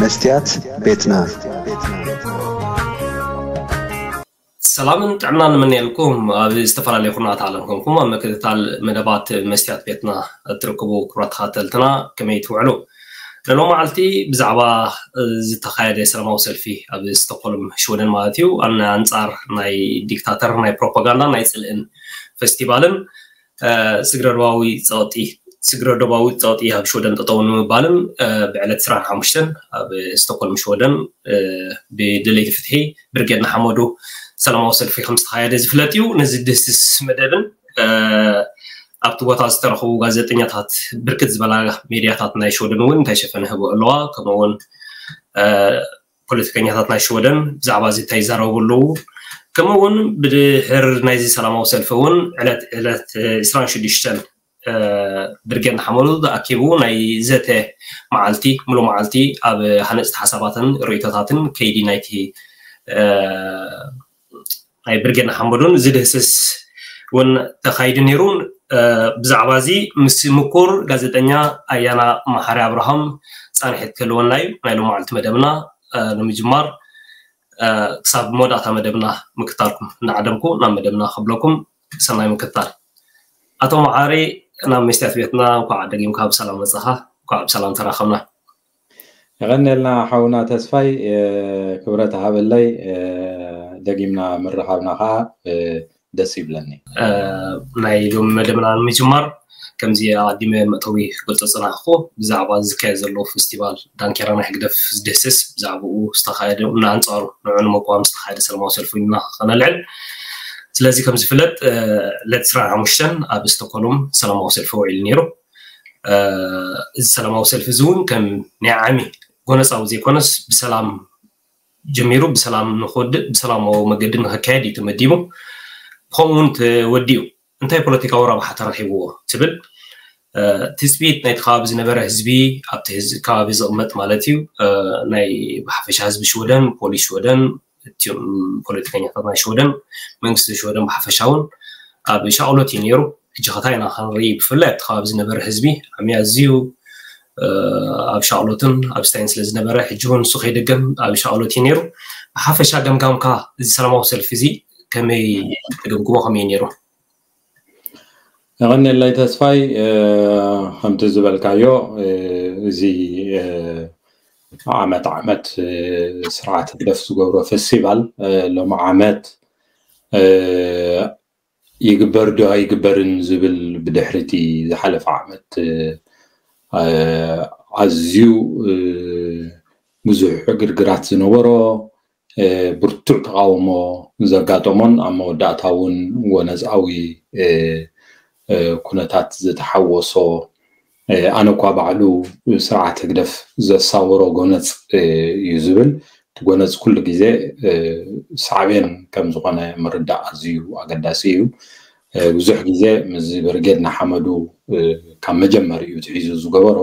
መስትያት ቤትና። ሰላምን ጥዕናን ንምንየልኩም። ኣብ ዝተፈላለዩ ኩርናት ዓለም ኮንኩም ኣብ ምክትታል መደባት መስትያት ቤትና እትርከቡ ክቡራት ተኸታተልትና፣ ከመይ ትውዕሉ? ንሎም መዓልቲ ብዛዕባ ዝተኻየደ ሰላማዊ ሰልፊ ኣብ ስቶክሆልም ሽወደን ማለት እዩ፣ ኣን-፣ ኣንጻር ናይ ዲክታተር ናይ ፕሮፓጋንዳ ናይ ጽልእን ፌስቲቫልን፣ እ፣ ስግረ ዶባዊ ጸቕጢ፣ ስግረ ዶባዊ ጸቕጢ ኣብ ሽወደን ጠጠው ንምባልን፣ እ፣ ብዕለት ዕስራን ሓሙሽተን ኣብ ስቶክሆልም ሽወደን፣ እ፣ ብደለይቲ ፍትሒ ብርጌድ ንሓመዱ ሰላማዊ ሰልፊ ከም ዝተኻየደ ዝፍለጥ እዩ። ነዚ ድህስስ መደብን፣ እ፣ ኣብቲ ቦታ ዝተረኸቡ ጋዜጠኛታት፣ ብርክት ዝበላ ሜድያታት ናይ ሽወደን እውን እንታይ ሸፈነ ህቦ ኣለዋ። ከምኡ እውን፣ እ፣ ፖለቲከኛታት ናይ ሽወደን ብዛዕባ እዚ እንታይ ይዛረቡ ኣለዉ። ከምኡ እውን ብድሕር ናይዚ ሰላማዊ ሰልፊ እውን ዕለት፣ ዕለት ዕስራን ሽዱሽተን፣ እ፣ ብርጌድ ንሓመዱ ተኣኪቡ ናይ ዘተ መዓልቲ፣ ሙሉእ መዓልቲ ኣብ ሃነፅቲ ሓሳባትን ርእይቶታትን ከይዲ ናይቲ፣ እ፣ ናይ ብርጌድ ንሓመዱን ዝድህስስ እውን ተኻይዱ ነይሩ። እ፣ ብዛዕባ እዚ ምስ ምኩር ጋዜጠኛ ኣያና መሓሪ ኣብርሃም ፃንሒት ክህልወና እዩ። ናይ ሎማዓልቲ መደብና፣ እ፣ ንምጅማር፣ እ፣ ክሳብ መወዳእታ መደብና ምክታልኩም እናዓደምኩ ናብ መደብና ከብለኩም ሰናይ ምክታል። ኣቶ መሓሪ፣ ናብ መስትያት ቤትና እንኳዕ ደጊምካ ብሰላም መጻኻ፣ እንኳዕ ብሰላም ተራኸብና። የቐንየልና ሓውና ተስፋይ፣ እ፣ ክብረት ሃበለይ፣ እ፣ ደጊምና ምርኻብና ኸዓ፣ እ፣ ደስ ይብለኒ። እ፣ ናይ ሎሚ መደብና ንምጅማር ከምዚ ኣቐዲመ መእተዊ ክገልጾ ዝጸናሕኩ፣ ብዛዕባ ዝካየድ ዘሎ ፌስቲቫል ዳንኬራ ናይ ህግደፍ ዝድህስስ፣ ብዛዕባኡ ዝተኻየደ፣ ንኣንጻሩ ንዑ ንምቋም ዝተኻየደ ሰላማዊ ሰልፊ ኢና ከነልዕል። ስለዚ ከም ዝፍለጥ፣ እ፣ ዕለት ዕስራን ሓሙሽተን ኣብ ስቶክሆልም ሰላማዊ ሰልፊ ውዒሉ ነይሩ። እ፣ እዚ ሰላማዊ ሰልፊ እዚ እውን ከም ናይ ዓሚ ጎነጻዊ ዘይኮነስ ብሰላም ጀሚሩ ብሰላም ንክወድእ፣ ብሰላማዊ መገዲ ንክካየድ እዩ ተመዲቡ። ብኸምኡ እውን ተወዲኡ። እንታይ ፖለቲካዊ ረብሓ ተረኺብዎ ትብል፣ እ፣ ትጽቢት ናይቲ ከባቢ ዝነበረ ህዝቢ፣ ኣብቲ ህዝ-፣ ከባቢ ዝቕመጥ ማለት እዩ፣ እ፣ ናይ ብሓፈሻ ህዝቢ ሽወደን፣ ፖሊስ ሽወደን፣ እቲኦም ፖለቲከኛታት ናይ ሽወደን፣ መንግስቲ ሽወደን ብሓፈሻ እውን ኣብ ሻቕሎት እዩ ነይሩ። ሕጂ ከታ ኢና ክንርኢ፣ ብፍላይ ኣብቲ ከባቢ ዝነበረ ህዝቢ ዓሚ ኣዝዩ፣ እ፣ ኣብ ሻቕሎትን ኣብ ስታይን ስለ ዝነበረ፣ ሕጂ እውን ንሱ ከይደገም ኣብ ሻቕሎት እዩ ነይሩ። ብሓፈሻ ገምጋምካ እዚ ሰላማዊ ሰልፊ እዚ ከመይ ትግምግሞ፣ ከመይ እዩ ነይሩ? የቐንየለይ ተስፋይ፣ እ፣ ከምቲ ዝበልካዮ፣ እ፣ እዚ፣ እ፣ ዓመት ዓመት፣ እ፣ ስርዓት ህግደፍ ዝገብሮ ፌስቲቫል፣ እ፣ ሎሚ ዓመት፣ እ፣ ይግበር ዶ ኣይግበርን ዝብል ብድሕሪ እቲ ዝሓለፈ ዓመት፣ እ፣ ኣዝዩ፣ እ፣ ብዙሕ ዕግርግራት ዝነበሮ፣ እ፣ ብርቱዕ ተቓውሞ ዘጋጠሞን ኣብ መወዳእታ እውን ጎነጻዊ፣ እ፣ እ፣ ኩነታት ዝተሓወሶ፣ እ፣ ኣነ እኳ ባዕሉ ስርዓት ህግደፍ ዘሳወሮ ጎነጽ፣ እ፣ እዩ ዝብል። እቲ ጎነጽ ኩሉ ግዜ፣ እ፣ ሳዕቤን ከም ዝኾነ ምርዳእ ኣዝዩ ኣገዳሲ እዩ። እ፣ ብዙሕ ግዜ ምስ ብርጌድ ንሓመዱ፣ እ፣ ካብ መጀመሪኡ ትሒዙ ዝገበሮ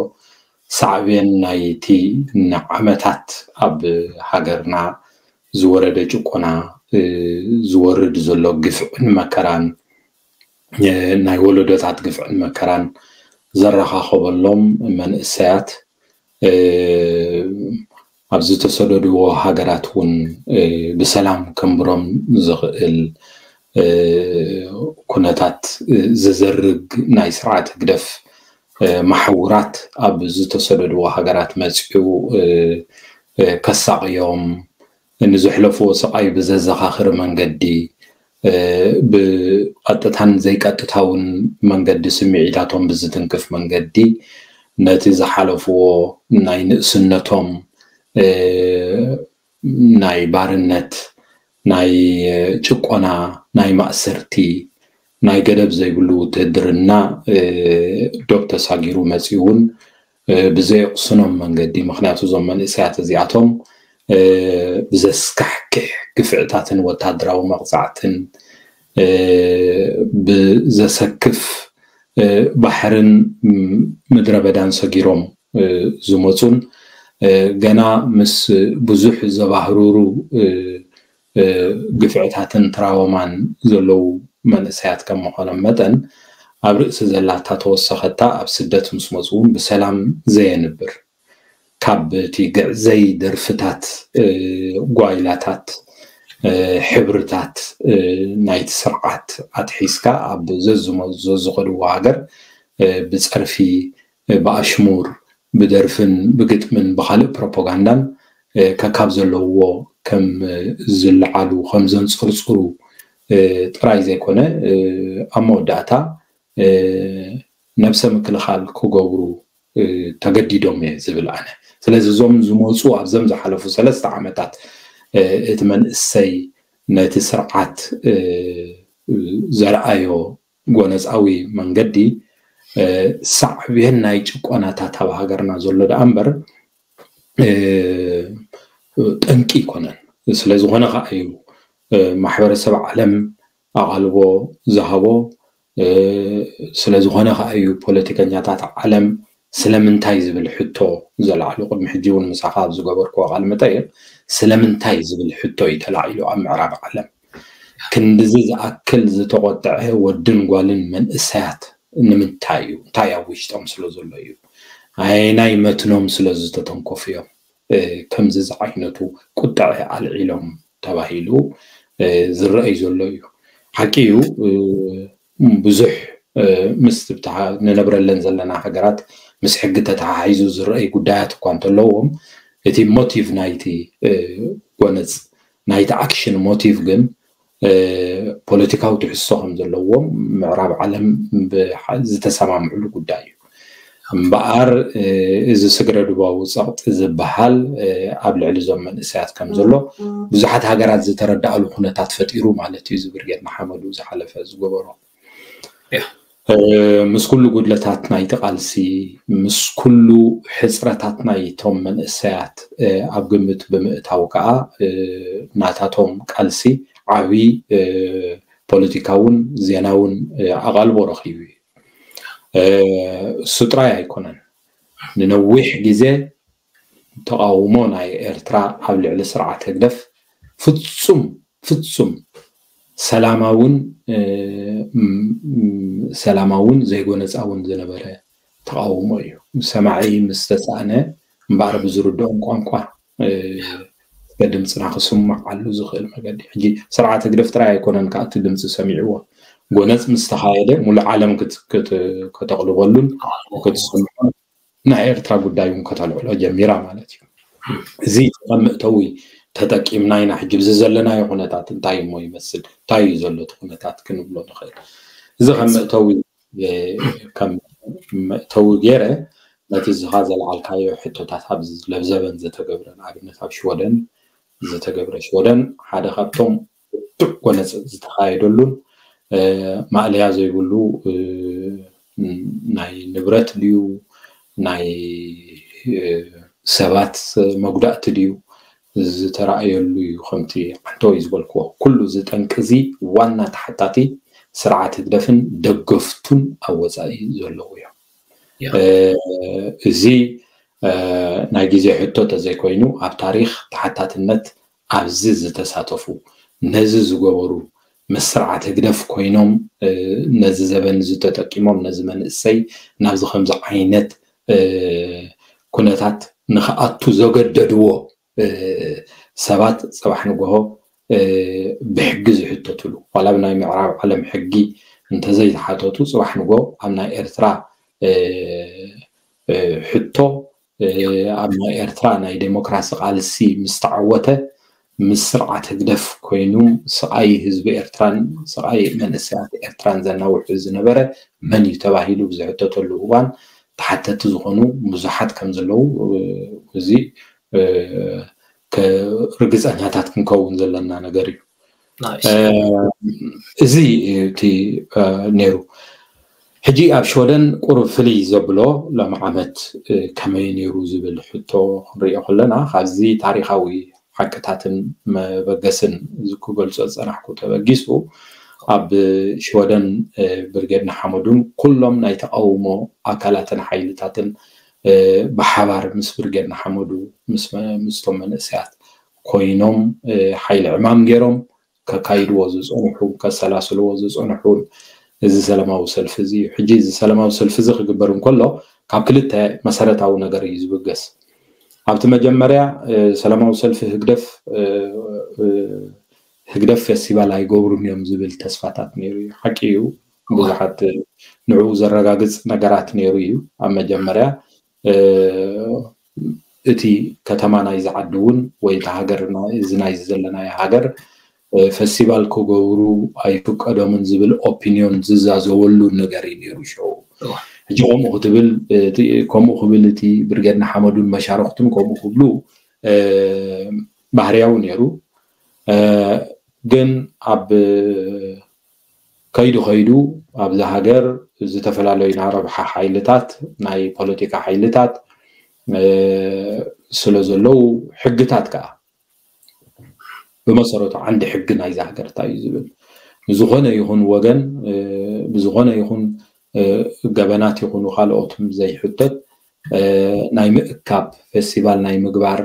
ሳዕቤን ናይቲ ንዓመታት ኣብ ሃገርና ዝወረደ ጭቆና፣ እ፣ ዝወርድ ዘሎ ግፍዕን መከራን፣ እ፣ ናይ ወለዶታት ግፍዕን መከራን ዘረኻኸበሎም መንእሰያት፣ እ፣ ኣብ ዝተሰደድዎ ሃገራት እውን፣ እ፣ ብሰላም ከንብሮም ዝኽእል፣ እ፣ ኩነታት፣ እ፣ ዝዘርግ ናይ ስርዓት ህግደፍ፣ እ፣ ማሕውራት ኣብ ዝተሰደድዎ ሃገራት መጺኡ፣ እ፣ እ፣ ከሳቕዮም፣ ንዘሕለፍዎ ስቓይ ብዘዘኻኽር መንገዲ፣ እ፣ ብቐጥታን ዘይቀጥታውን መንገዲ ስምዒታቶም ብዝትንክፍ መንገዲ ነቲ ዝሓለፍዎ ናይ ንእስነቶም፣ እ፣ ናይ ባርነት፣ ናይ ጭቆና፣ ናይ ማእሰርቲ፣ ናይ ገደብ ዘይብሉ ውትህድርና፣ እ፣ ዶብ ተሳጊሩ መጺኡ እውን፣ እ፣ ብዘየቕስኖም መንገዲ፣ ምኽንያቱ እዞም መንእሰያት እዚኣቶም፣ እ፣ ብዘስካሕክሕ ግፍዕታትን ወታደራዊ መቕጻዕትን፣ እ፣ ብዘሰክፍ፣ እ፣ ባሕርን፣ ም-፣ ምድረ በዳን ሰጊሮም፣ እ፣ ዝመጹን፣ እ፣ ገና ምስ ብዙሕ ዘባህሩሩ፣ እ፣ እ፣ ግፍዕታትን ትራወማን ዘለዉ መንእሰያት ከም ምዃኖም መጠን፣ ኣብ ርእሲ ዘላታ ተወሰኸታ ኣብ ስደት ምስ መጹ እውን ብሰላም ዘየንብር፣ ካብ እቲ ግዕዘይ ደርፍታት፣ ጓይላታት፣ ሕብርታት ናይቲ ስርዓት ኣትሒዝካ ኣብ ዘዝኸድዎ ሃገር ብፀርፊ፣ ብኣሽሙር፣ ብደርፍን ብግጥምን ብካልእ ፕሮፓጋንዳን ከካብ ዘለውዎ ከም ዝለዓሉ ከም ዘንፀርፅሩ ጥራይ ዘይኮነ ኣብ መወዳእታ ነብሰ ምክልኻል ክገብሩ ተገዲዶም እየ ዝብል ኣነ። ስለዚ እዞም ዝመፁ ኣብዞም ዝሓለፉ ሰለስተ ዓመታት እቲ መንእሰይ ነቲ ስርዓት ዘርኣዮ ጎነፃዊ መንገዲ ሳዕቤን ናይ ጭቆናታት ኣብ ሃገርና ዘሎ ደኣ እምበር ጠንቂ ኣይኮነን። ስለዝኾነ ከዓ እዩ ማሕበረሰብ ዓለም ኣቓልቦ ዝሃቦ። ስለዝኾነ ከዓ እዩ ፖለቲከኛታት ዓለም ስለምንታይ ዝብል ሕቶ ዘልዓሉ። ቅድሚ ሕጂ እውን ምሳኻ ኣብ ዝገበርክዎ ቃለ መጠይቕ ስለምንታይ ዝብል ሕቶ እዩ ተላዒሉ ኣብ ምዕራብ ዓለም። ክንድዚ ዝኣክል ዝተቖጥዐ ወድን ጓልን መንእሰያት ንምንታይ እዩ? እንታይ ኣብ ውሽጦም ስለ ዘሎ እዩ? ኣየናይ መትኖም ስለ ዝተተንከፉ እዮም ከምዚ ዝዓይነቱ ቁጥዐ ኣልዒሎም ተባሂሉ ዝረኣይ ዘሎ እዩ። ሓቂ እዩ፣ ብዙሕ ምስ ንነብረለን ዘለና ሃገራት ምስ ሕጊ ተተሓሒዙ ዝረኣይ ጉዳያት እኳ እንተለዎም፣ እቲ ሞቲቭ ናይቲ ጎነፅ፣ ናይቲ ኣክሽን ሞቲቭ ግን ፖለቲካዊ ትሕዝቶ ከም ዘለዎም ምዕራብ ዓለም ዝተሰማምዕሉ ጉዳይ እዩ። እምበኣር እዚ ስግረ ዶባዊ ፀቕጢ ዝበሃል ኣብ ልዕሊ እዞም መንእሰያት ከም ዘሎ ብዙሓት ሃገራት ዝተረዳእሉ ኩነታት ፈጢሩ ማለት እዩ። እዚ ብርጌድ ንሓመዱ ዝሓለፈ ዝገበሮ ምስ ኩሉ ጉድለታት ናይቲ ቃልሲ፣ ምስ ኩሉ ሕፅረታት ናይቶም መንእሰያት ኣብ ግምት ብምእታው ከዓ ናታቶም ቃልሲ ዓብዪ ፖለቲካውን ዜናውን ኣቓልቦ ረኺቡ እዩ። እሱ ጥራይ ኣይኮነን። ንነዊሕ ግዜ ተቓውሞ ናይ ኤርትራ ኣብ ልዕሊ ስርዓት ህግደፍ ፍጹም ፍጹም ሰላማውን ሰላማውን ዘይጎነጻውን ዝነበረ ተቓውሞ እዩ። ሰማዒ ምስ ተሳእነ እምበኣር ብዝርድኦም ቋንቋ ድምፅና ክስማዓሉ ዝኽእል መገዲ። ሕጂ ስርዓት ህግደፍ ጥራይ ኣይኮነን ከኣ እቲ ድምፂ ሰሚዕዎ። ጎነፅ ምስ ተኻየደ ሙሉእ ዓለም ከተቕልበሉን ክትስምዖ ናይ ኤርትራ ጉዳይ እውን ከተልዕሎ ጀሚራ ማለት እዩ። እዚ ከም መእተዊ ተጠቂምና ኢና ሕጂ ብዚ ዘለናዮ ኩነታት እንታይ እሞ ይመስል፣ እንታይ እዩ ዘሎ እቲ ኩነታት ክንብሎ ንኽእል። እዚ ከም መእተዊ ከም መእተዊ ገይረ ነቲ ዝኻ ዘልዓልካዮ ሕቶታት ኣብ ለብዘበን ዝተገብረ ንኣብነት ኣብ ሽወደን ዝተገብረ ሽወደን ሓደ ካብቶም ብርቱዕ ጎነፅ ዝተኻየደሉን ማእለያ ዘይብሉ ናይ ንብረት ድዩ ናይ ሰባት መጉዳእቲ ድዩ ዝተረኣየሉ እዩ። ከምቲ ዓንተወይ ዝበልክዎ ኩሉ እዚ ጠንቂ እዚ ዋና ተሓታቲ ስርዓት ህግደፍን ደገፍቱን ኣብ ወፃኢ ዘለዉ እዮም። እዚ ናይ ግዜ ሕቶ ተዘይኮይኑ ኣብ ታሪኽ ተሓታትነት ኣብዚ ዝተሳተፉ ነዚ ዝገበሩ ምስ ስርዓት ህግደፍ ኮይኖም ነዚ ዘበን እዚ ተጠቂሞም ነዚ መንእሰይ ናብዚ ከምዚ ዓይነት ኩነታት ንክኣቱ ዘገደድዎ ሰባት ፅባሕ ንግሆ ብሕጊ ዝሕተትሉ ዋላ ብናይ ምዕራብ ዓለም ሕጊ እንተዘይተሓተቱ ፅባሕ ንግሆ ኣብ ናይ ኤርትራ ሕቶ ኣብ ናይ ኤርትራ ናይ ዴሞክራሲ ቃልሲ ምስ ተዓወተ ምስ ስርዓት ህግደፍ ኮይኑ ስቓይ ህዝቢ ኤርትራን ስቓይ መንእሰያት ኤርትራን ዘናውሑ ዝነበረ መን እዩ ተባሂሉ ብዝሕተተሉ እዋን ተሓተቲ ዝኾኑ ብዙሓት ከም ዘለዉ እዚ ርግፀኛታት ክንከውን ዘለና ነገር እዩ። እዚ እቲ ነይሩ። ሕጂ ኣብ ሽወደን ቁሩብ ፍልይ ዘብሎ ሎም ዓመት ከመይ ነይሩ ዝብል ሕቶ ክንሪኦ ከለና ካብዚ ታሪኻዊ ሓቅታትን መበገስን ክገልጾ ዝጸናሕኩ ተበጊሱ ኣብ ሽወደን ብርጌድ ንሓመዱን ኩሎም ናይ ተቃውሞ ኣካላትን ሓይልታትን ብሓባር ምስ ብርጌድ ንሓመዱ ምስቶም መንእሰያት ኮይኖም ሓይሊ ዕማም ገይሮም ከካይድዎ ዝፀንሑ ከሰላስልዎ ዝፀንሑ እዚ ሰላማዊ ሰልፊ እዚ እዩ። ሕጂ እዚ ሰላማዊ ሰልፊ እዚ ክግበር እንከሎ ካብ ክልተ መሰረታዊ ነገር እዩ ዝብገስ። ኣብቲ መጀመርያ ሰላማዊ ሰልፊ ህግደፍ ህግደፍ ፌስቲቫል ኣይገብሩን እዮም ዝብል ተስፋታት ነይሩ እዩ። ሓቂ እዩ። ብዙሓት ንዕኡ ዘረጋግፅ ነገራት ነይሩ እዩ። ኣብ መጀመርያ እቲ ከተማ ናይዚ ዓዲ እውን ወይ እቲ ሃገር እዚ ናይ ዘለናዮ ሃገር ፈስቲቫል ክገብሩ ኣይፍቀዶምን ዝብል ኦፒኒዮን ዝዛዘበሉ ነገር እዩ ነይሩ ሸው። ሕጂ ከምኡ ክትብል ከምኡ ክብል እቲ ብርጌድ ንሓመዱን መሻርክቱን ከምኡ ክብሉ ባህርያዊ ነይሩ። ግን ኣብ ከይዱ ከይዱ ኣብዛ ሃገር ዝተፈላለዩ ናይ ረብሓ ሓይልታት ናይ ፖለቲካ ሓይልታት ስለ ዘለዉ ሕግታት ከዓ ብመሰረቱ ዓንዲ ሕጊ ናይዛ ሃገር እንታይ እዩ ዝብል ንዝኾነ ይኹን ወገን ብዝኾነ ይኹን ገበናት ይኹኑ ካልኦትን ዘይሕተት ናይ ምእካብ ፌስቲቫል ናይ ምግባር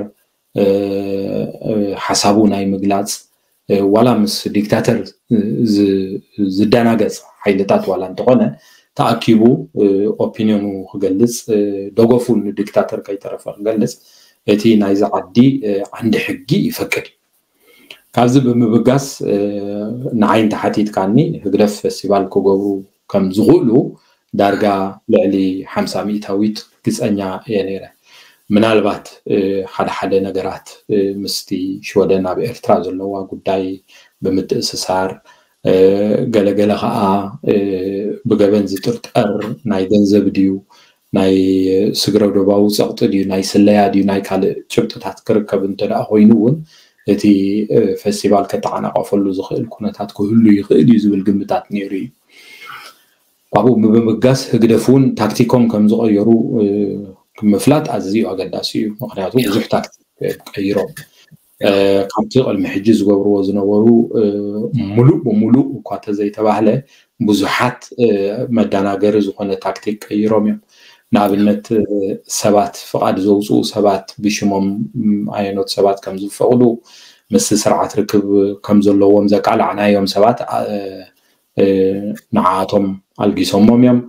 ሓሳቡ ናይ ምግላፅ ዋላ ምስ ዲክታተር ዝደናገፅ ሓይልታት ዋላ እንተኾነ ተኣኪቡ ኦፒኒዮኑ ክገልፅ ደገፉ ንዲክታተር ከይተረፈ ክገልፅ እቲ ናይዚ ዓዲ ዓንዲ ሕጊ ይፈቅድ እዩ። ካብዚ ብምብጋስ ንዓይ እንተሓቲትካኒ ህግደፍ ፌስቲቫል ክገብሩ ከም ዝኽእሉ ዳርጋ ልዕሊ ሓምሳ ሚእታዊት ግፀኛ እየ ነይረ። ምናልባት ሓደ ሓደ ነገራት ምስቲ ሽወደን ኣብ ኤርትራ ዘለዋ ጉዳይ ብምትእስሳር ገለገለ ከዓ ብገበን ዝጥርጠር ናይ ገንዘብ ድዩ ናይ ስግረ ዶባዊ ፀቕጢ ድዩ ናይ ስለያ ድዩ ናይ ካልእ ጭብጥታት ክርከብ እንተ ደኣ ኮይኑ እውን እቲ ፌስቲቫል ከተዓናቐፈሉ ዝኽእል ኩነታት ክህሉ ይኽእል እዩ ዝብል ግምታት ነይሩ እዩ። ካብኡ ብምብጋስ ህግደፍ እውን ታክቲኮም ከም ዝቐየሩ ምፍላጥ ኣዝዩ ኣገዳሲ እዩ። ምክንያቱ ብዙሕ ታክቲክ ቀይሮም ካብቲ ቅድሚ ሕጂ ዝገብርዎ ዝነበሩ ሙሉእ ብሙሉእ እኳ ተዘይተባህለ ብዙሓት መዳናገሪ ዝኾነ ታክቲክ ቀይሮም እዮም። ንኣብነት ሰባት ፍቓድ ዘውፅኡ ሰባት ብሽሞም ኣየኖት ሰባት ከም ዝፈቕዱ ምስቲ ስርዓት ርክብ ከም ዘለዎም ዘቃላዕናዮም ሰባት ንዓኣቶም ኣልጊሶሞም እዮም።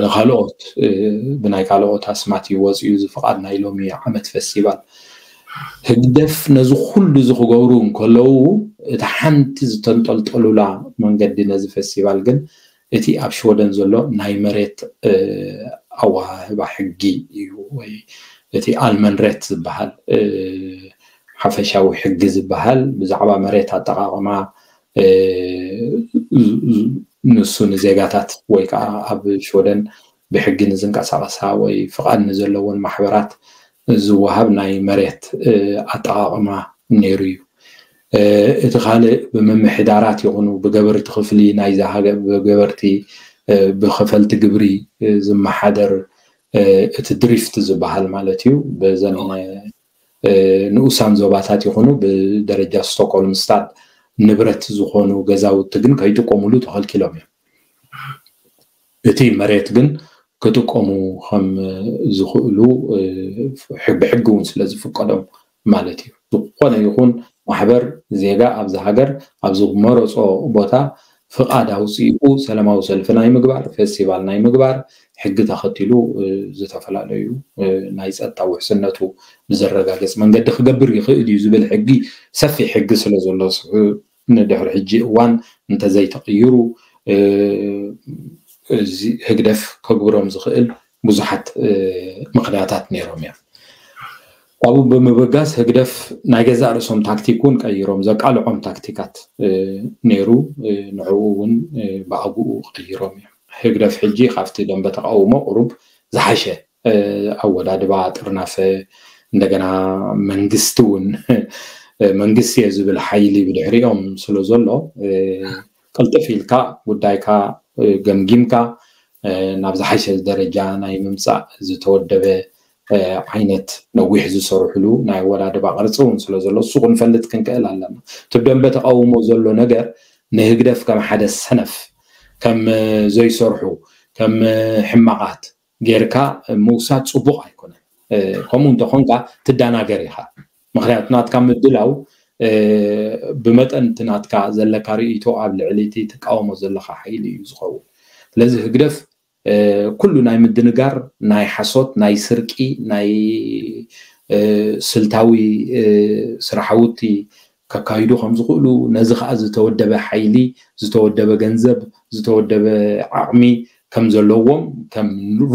ንካልኦት ብናይ ካልኦት ኣስማት ይወፅኡ እዚ ፍቓድ ናይ ሎሚ ዓመት ፌስቲቫል ህግደፍ ነዚ ኩሉ እዚ ክገብሩ እንከለዉ እቲ ሓንቲ ዝተንጠልጠሉላ መንገዲ ነዚ ፌስቲቫል ግን እቲ ኣብ ሽወደን ዘሎ ናይ መሬት ኣወሃህባ ሕጊ እዩ ወይ እቲ ኣልመንሬት ዝበሃል ሓፈሻዊ ሕጊ ዝበሃል ብዛዕባ መሬት ኣጠቃቕማ ንሱ ንዜጋታት ወይ ከዓ ኣብ ሽወደን ብሕጊ ንዝንቀሳቐሳ ወይ ፍቓድ ንዘለዎን ማሕበራት ዝወሃብ ናይ መሬት ኣጠቃቕማ ነይሩ እዩ። እቲ ካልእ ብምምሕዳራት ይኹኑ ብገበርቲ ክፍሊ ናይዛ ሃገር ብገበርቲ ብኸፈልቲ ግብሪ ዝመሓደር እቲ ድሪፍት ዝበሃል ማለት እዩ። በዘን ንኡሳን ዞባታት ይኹኑ ብደረጃ ስቶክሆልም ስታድ ንብረት ዝኾኑ ገዛውቲ ግን ከይጥቀሙሉ ተኸልኪሎም እዮም። እቲ መሬት ግን ክጥቀሙ ከም ዝኽእሉ ብሕጊ እውን ስለ ዝፍቀዶም ማለት እዩ። ዝኾነ ይኹን ማሕበር ዜጋ ኣብዚ ሃገር ኣብ ዝመረፆ ቦታ ፍቓድ ኣውፂኡ ሰላማዊ ሰልፊ ናይ ምግባር ፌስቲቫል ናይ ምግባር ሕጊ ተኸቲሉ ዝተፈላለዩ ናይ ፀጥታ ውሕስነቱ ብዘረጋገፅ መንገዲ ክገብር ይኽእል እዩ ዝብል ሕጊ ሰፊሕ ሕጊ ስለ ዘሎ ንድሕሪ ሕጂ እዋን እንተዘይተቕይሩ ህግደፍ ከግብሮም ዝኽእል ብዙሓት ምኽንያታት ነይሮም እዮም። ካብኡ ብምብጋስ ህግደፍ ናይ ገዛእ ርእሶም ታክቲክ እውን ቀይሮም ዘቃልዖም ታክቲካት ነይሩ። ንዕኡ እውን ብኣግኡ ቀይሮም እዮም። ህግደፍ ሕጂ ካብቲ ደንበ ተቃውሞ ቁሩብ ዝሓሸ ኣወዳድባ ጥርናፈ እንደገና መንግስቲ እውን መንግስቲ እየ ዝብል ሓይሊ ብድሕሪኦም ስለ ዘሎ ቅልጥፍ ኢልካ ጉዳይካ ገምጊምካ ናብ ዝሓሸ ደረጃ ናይ ምምፃእ ዝተወደበ ዓይነት ነዊሕ ዝሰርሕሉ ናይ ኣወዳድባ ቅርፂ እውን ስለ ዘሎ እሱ ክንፈልጥ ክንክእል ኣለና። እቲ ደንበ ተቃውሞ ዘሎ ነገር ንህግደፍ ከም ሓደ ሰነፍ ከም ዘይሰርሑ ከም ሕማቓት ጌርካ ምውሳድ ፅቡቕ ኣይኮነን። ከምኡ እንተኾንካ ትዳናገር ኢኻ። ምክንያቱ ናትካ ምድላው ብመጠን እቲ ናትካ ዘለካ ርእይቶ ኣብ ልዕሊ እቲ ትቃወሞ ዘለካ ሓይሊ እዩ ዝኸውን። ስለዚ ህግደፍ ኩሉ ናይ ምድንጋር ናይ ሓሶት ናይ ስርቂ ናይ ስልታዊ ስራሕውቲ ከካይዱ ከም ዝኽእሉ፣ ነዚ ከዓ ዝተወደበ ሓይሊ፣ ዝተወደበ ገንዘብ፣ ዝተወደበ ዓቕሚ ከም ዘለዎም ከም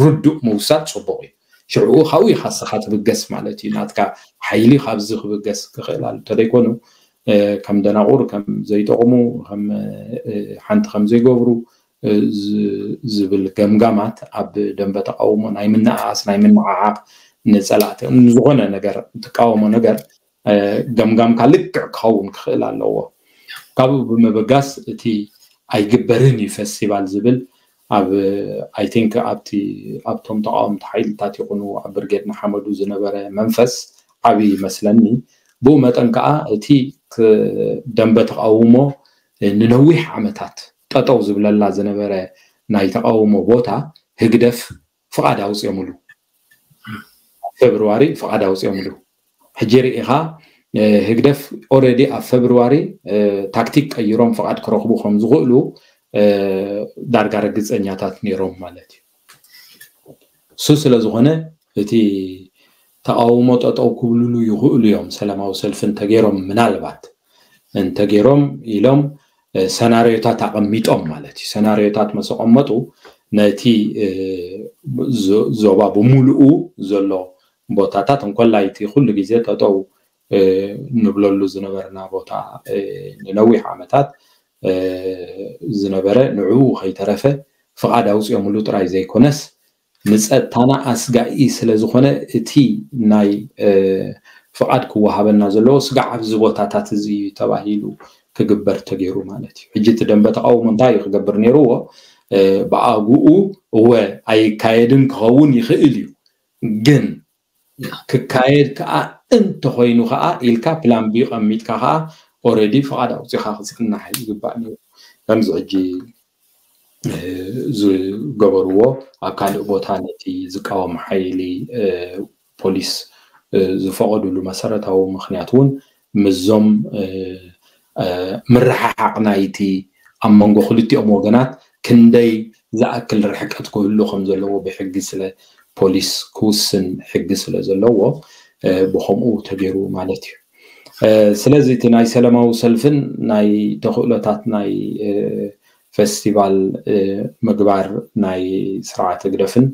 ርዱእ ምውሳድ ፅቡቕ እዩ። ሽዕኡ ካብኡ ኢኻ ንስኻ ትብገስ ማለት እዩ። ናትካ ሓይሊ ካብዚ ክብገስ ክኽእል ኣሎ። እንተደይኮኑ ከም ደናቑር፣ ከም ዘይጠቕሙ፣ ከም ሓንቲ ከም ዘይገብሩ ዝብል ገምጋማት ኣብ ደንበ ተቃውሞ ናይ ምንኣኣስ፣ ናይ ምንዓዓቕ፣ ንፀላእቲ ንዝኾነ ነገር ትቃወሞ ነገር ገምጋምካ ልክዕ ክኸውን ክኽእል ኣለዎ። ካብኡ ብምብጋስ እቲ ኣይግበርን እዩ ፈስቲቫል ዝብል ኣብ I think ኣብቲ ኣብቶም ተቃወምቲ ሓይልታት ይኹኑ ኣብ ብርጌድ ንሓመዱ ዝነበረ መንፈስ ዓብዪ ይመስለኒ። ብኡ መጠን ከዓ እቲ ደንበ ተቃውሞ ንነዊሕ ዓመታት ጠጠው ዝብለላ ዝነበረ ናይ ተቃውሞ ቦታ ህግደፍ ፍቓድ ኣውፅኦምሉ። ፌብርዋሪ ፍቓድ ኣውፅኦምሉ። ሕጂ ርኢኻ ህግደፍ already ኣብ ፌብርዋሪ ታክቲክ ቀይሮም ፍቓድ ክረኽቡ ከም ዝኽእሉ ዳርጋ ርግፀኛታት ነይሮም ማለት እዩ። እሱ ስለ ዝኾነ እቲ ተቃውሞ ጠጠው ክብልሉ ይኽእሉ እዮም፣ ሰላማዊ ሰልፊ እንተገይሮም፣ ምናልባት እንተገይሮም ኢሎም ሰናርዮታት ኣቐሚጦም ማለት እዩ። ሰናርዮታት መሰቐመጡ ነቲ ዞባ ብምሉኡ ዘሎ ቦታታት እንኮላይ እቲ ኩሉ ግዜ ጠጠው ንብለሉ ዝነበርና ቦታ ንነዊሕ ዓመታት ዝነበረ ንዕኡ ከይተረፈ ፍቓድ ኣውፅኦምሉ ጥራይ ዘይኮነስ ንፀጥታና ኣስጋኢ ስለ ዝኾነ እቲ ናይ ፍቓድ ክወሃበና ዘለዎ ስጋዕ ኣብዚ ቦታታት እዚ እዩ ተባሂሉ ክግበር ተገይሩ ማለት እዩ። ሕጂ እቲ ደንበ ተቃውሞ እንታይ እዩ ክገብር ነይርዎ? ብኣግኡ እወ ኣይካየድን ክኸውን ይኽእል እዩ፣ ግን ክካየድ ከዓ እንተኾይኑ ከዓ ኢልካ ፕላን ቢ ቀሚጥካ ከዓ already ፍቓድ ኣውፂኻ ክፅናሕ ይግባእ ነይሩ። ከምዚ ሕጂ ዝገበርዎ ኣብ ካልእ ቦታ ነቲ ዝቃወም ሓይሊ ፖሊስ ዝፈቐዱሉ መሰረታዊ ምኽንያት እውን ምስዞም ምርሕሓቕ ናይቲ ኣብ መንጎ ክልቲኦም ወገናት ክንደይ ዝኣክል ርሕቀት ክህሉ ከም ዘለዎ ብሕጊ ስለ ፖሊስ ክውስን ሕጊ ስለ ዘለዎ ብኸምኡ ተገይሩ ማለት እዩ። ስለዚ እቲ ናይ ሰላማዊ ሰልፍን ናይ ተኽእሎታት ናይ ፈስቲቫል ምግባር ናይ ስርዓት ህግደፍን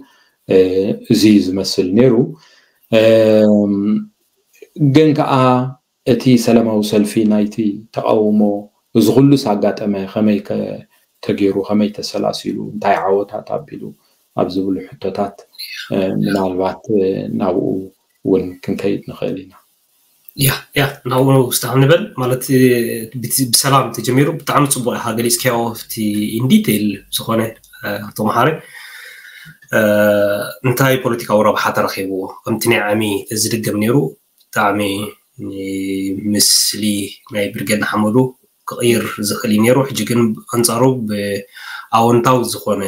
እዚ ዝመስል ነይሩ። ግን ከዓ እቲ ሰላማዊ ሰልፊ ናይቲ ተቃውሞ እዚ ኩሉስ ኣጋጠመ፣ ከመይ ከ ተገይሩ፣ ከመይ ተሰላሲሉ፣ እንታይ ዓወታት ኣቢሉ ኣብ ዝብሉ ሕቶታት ምናልባት ናብኡ እውን ክንከይድ ንኽእል ኢና። ያ ያ ናብኡ ውስጣ ንበል ማለት ብሰላም ተጀሚሩ ብጣዕሚ ፅቡቅ ኢካ ገሊፅካዮ ኣብቲ ኢንዲቴል ዝኾነ ኣቶ መሓሪ እንታይ ፖለቲካዊ ረብሓ ተረኪብዎ ከምቲ ናይ ዓሚ ተዝድገም ነይሩ ብጣዕሚ ምስሊ ናይ ብርጌድ ንሓመዱ ክቕይር ዝኽእል እዩ ነይሩ። ሕጂ ግን ኣንፃሩ ብኣወንታዊ ዝኾነ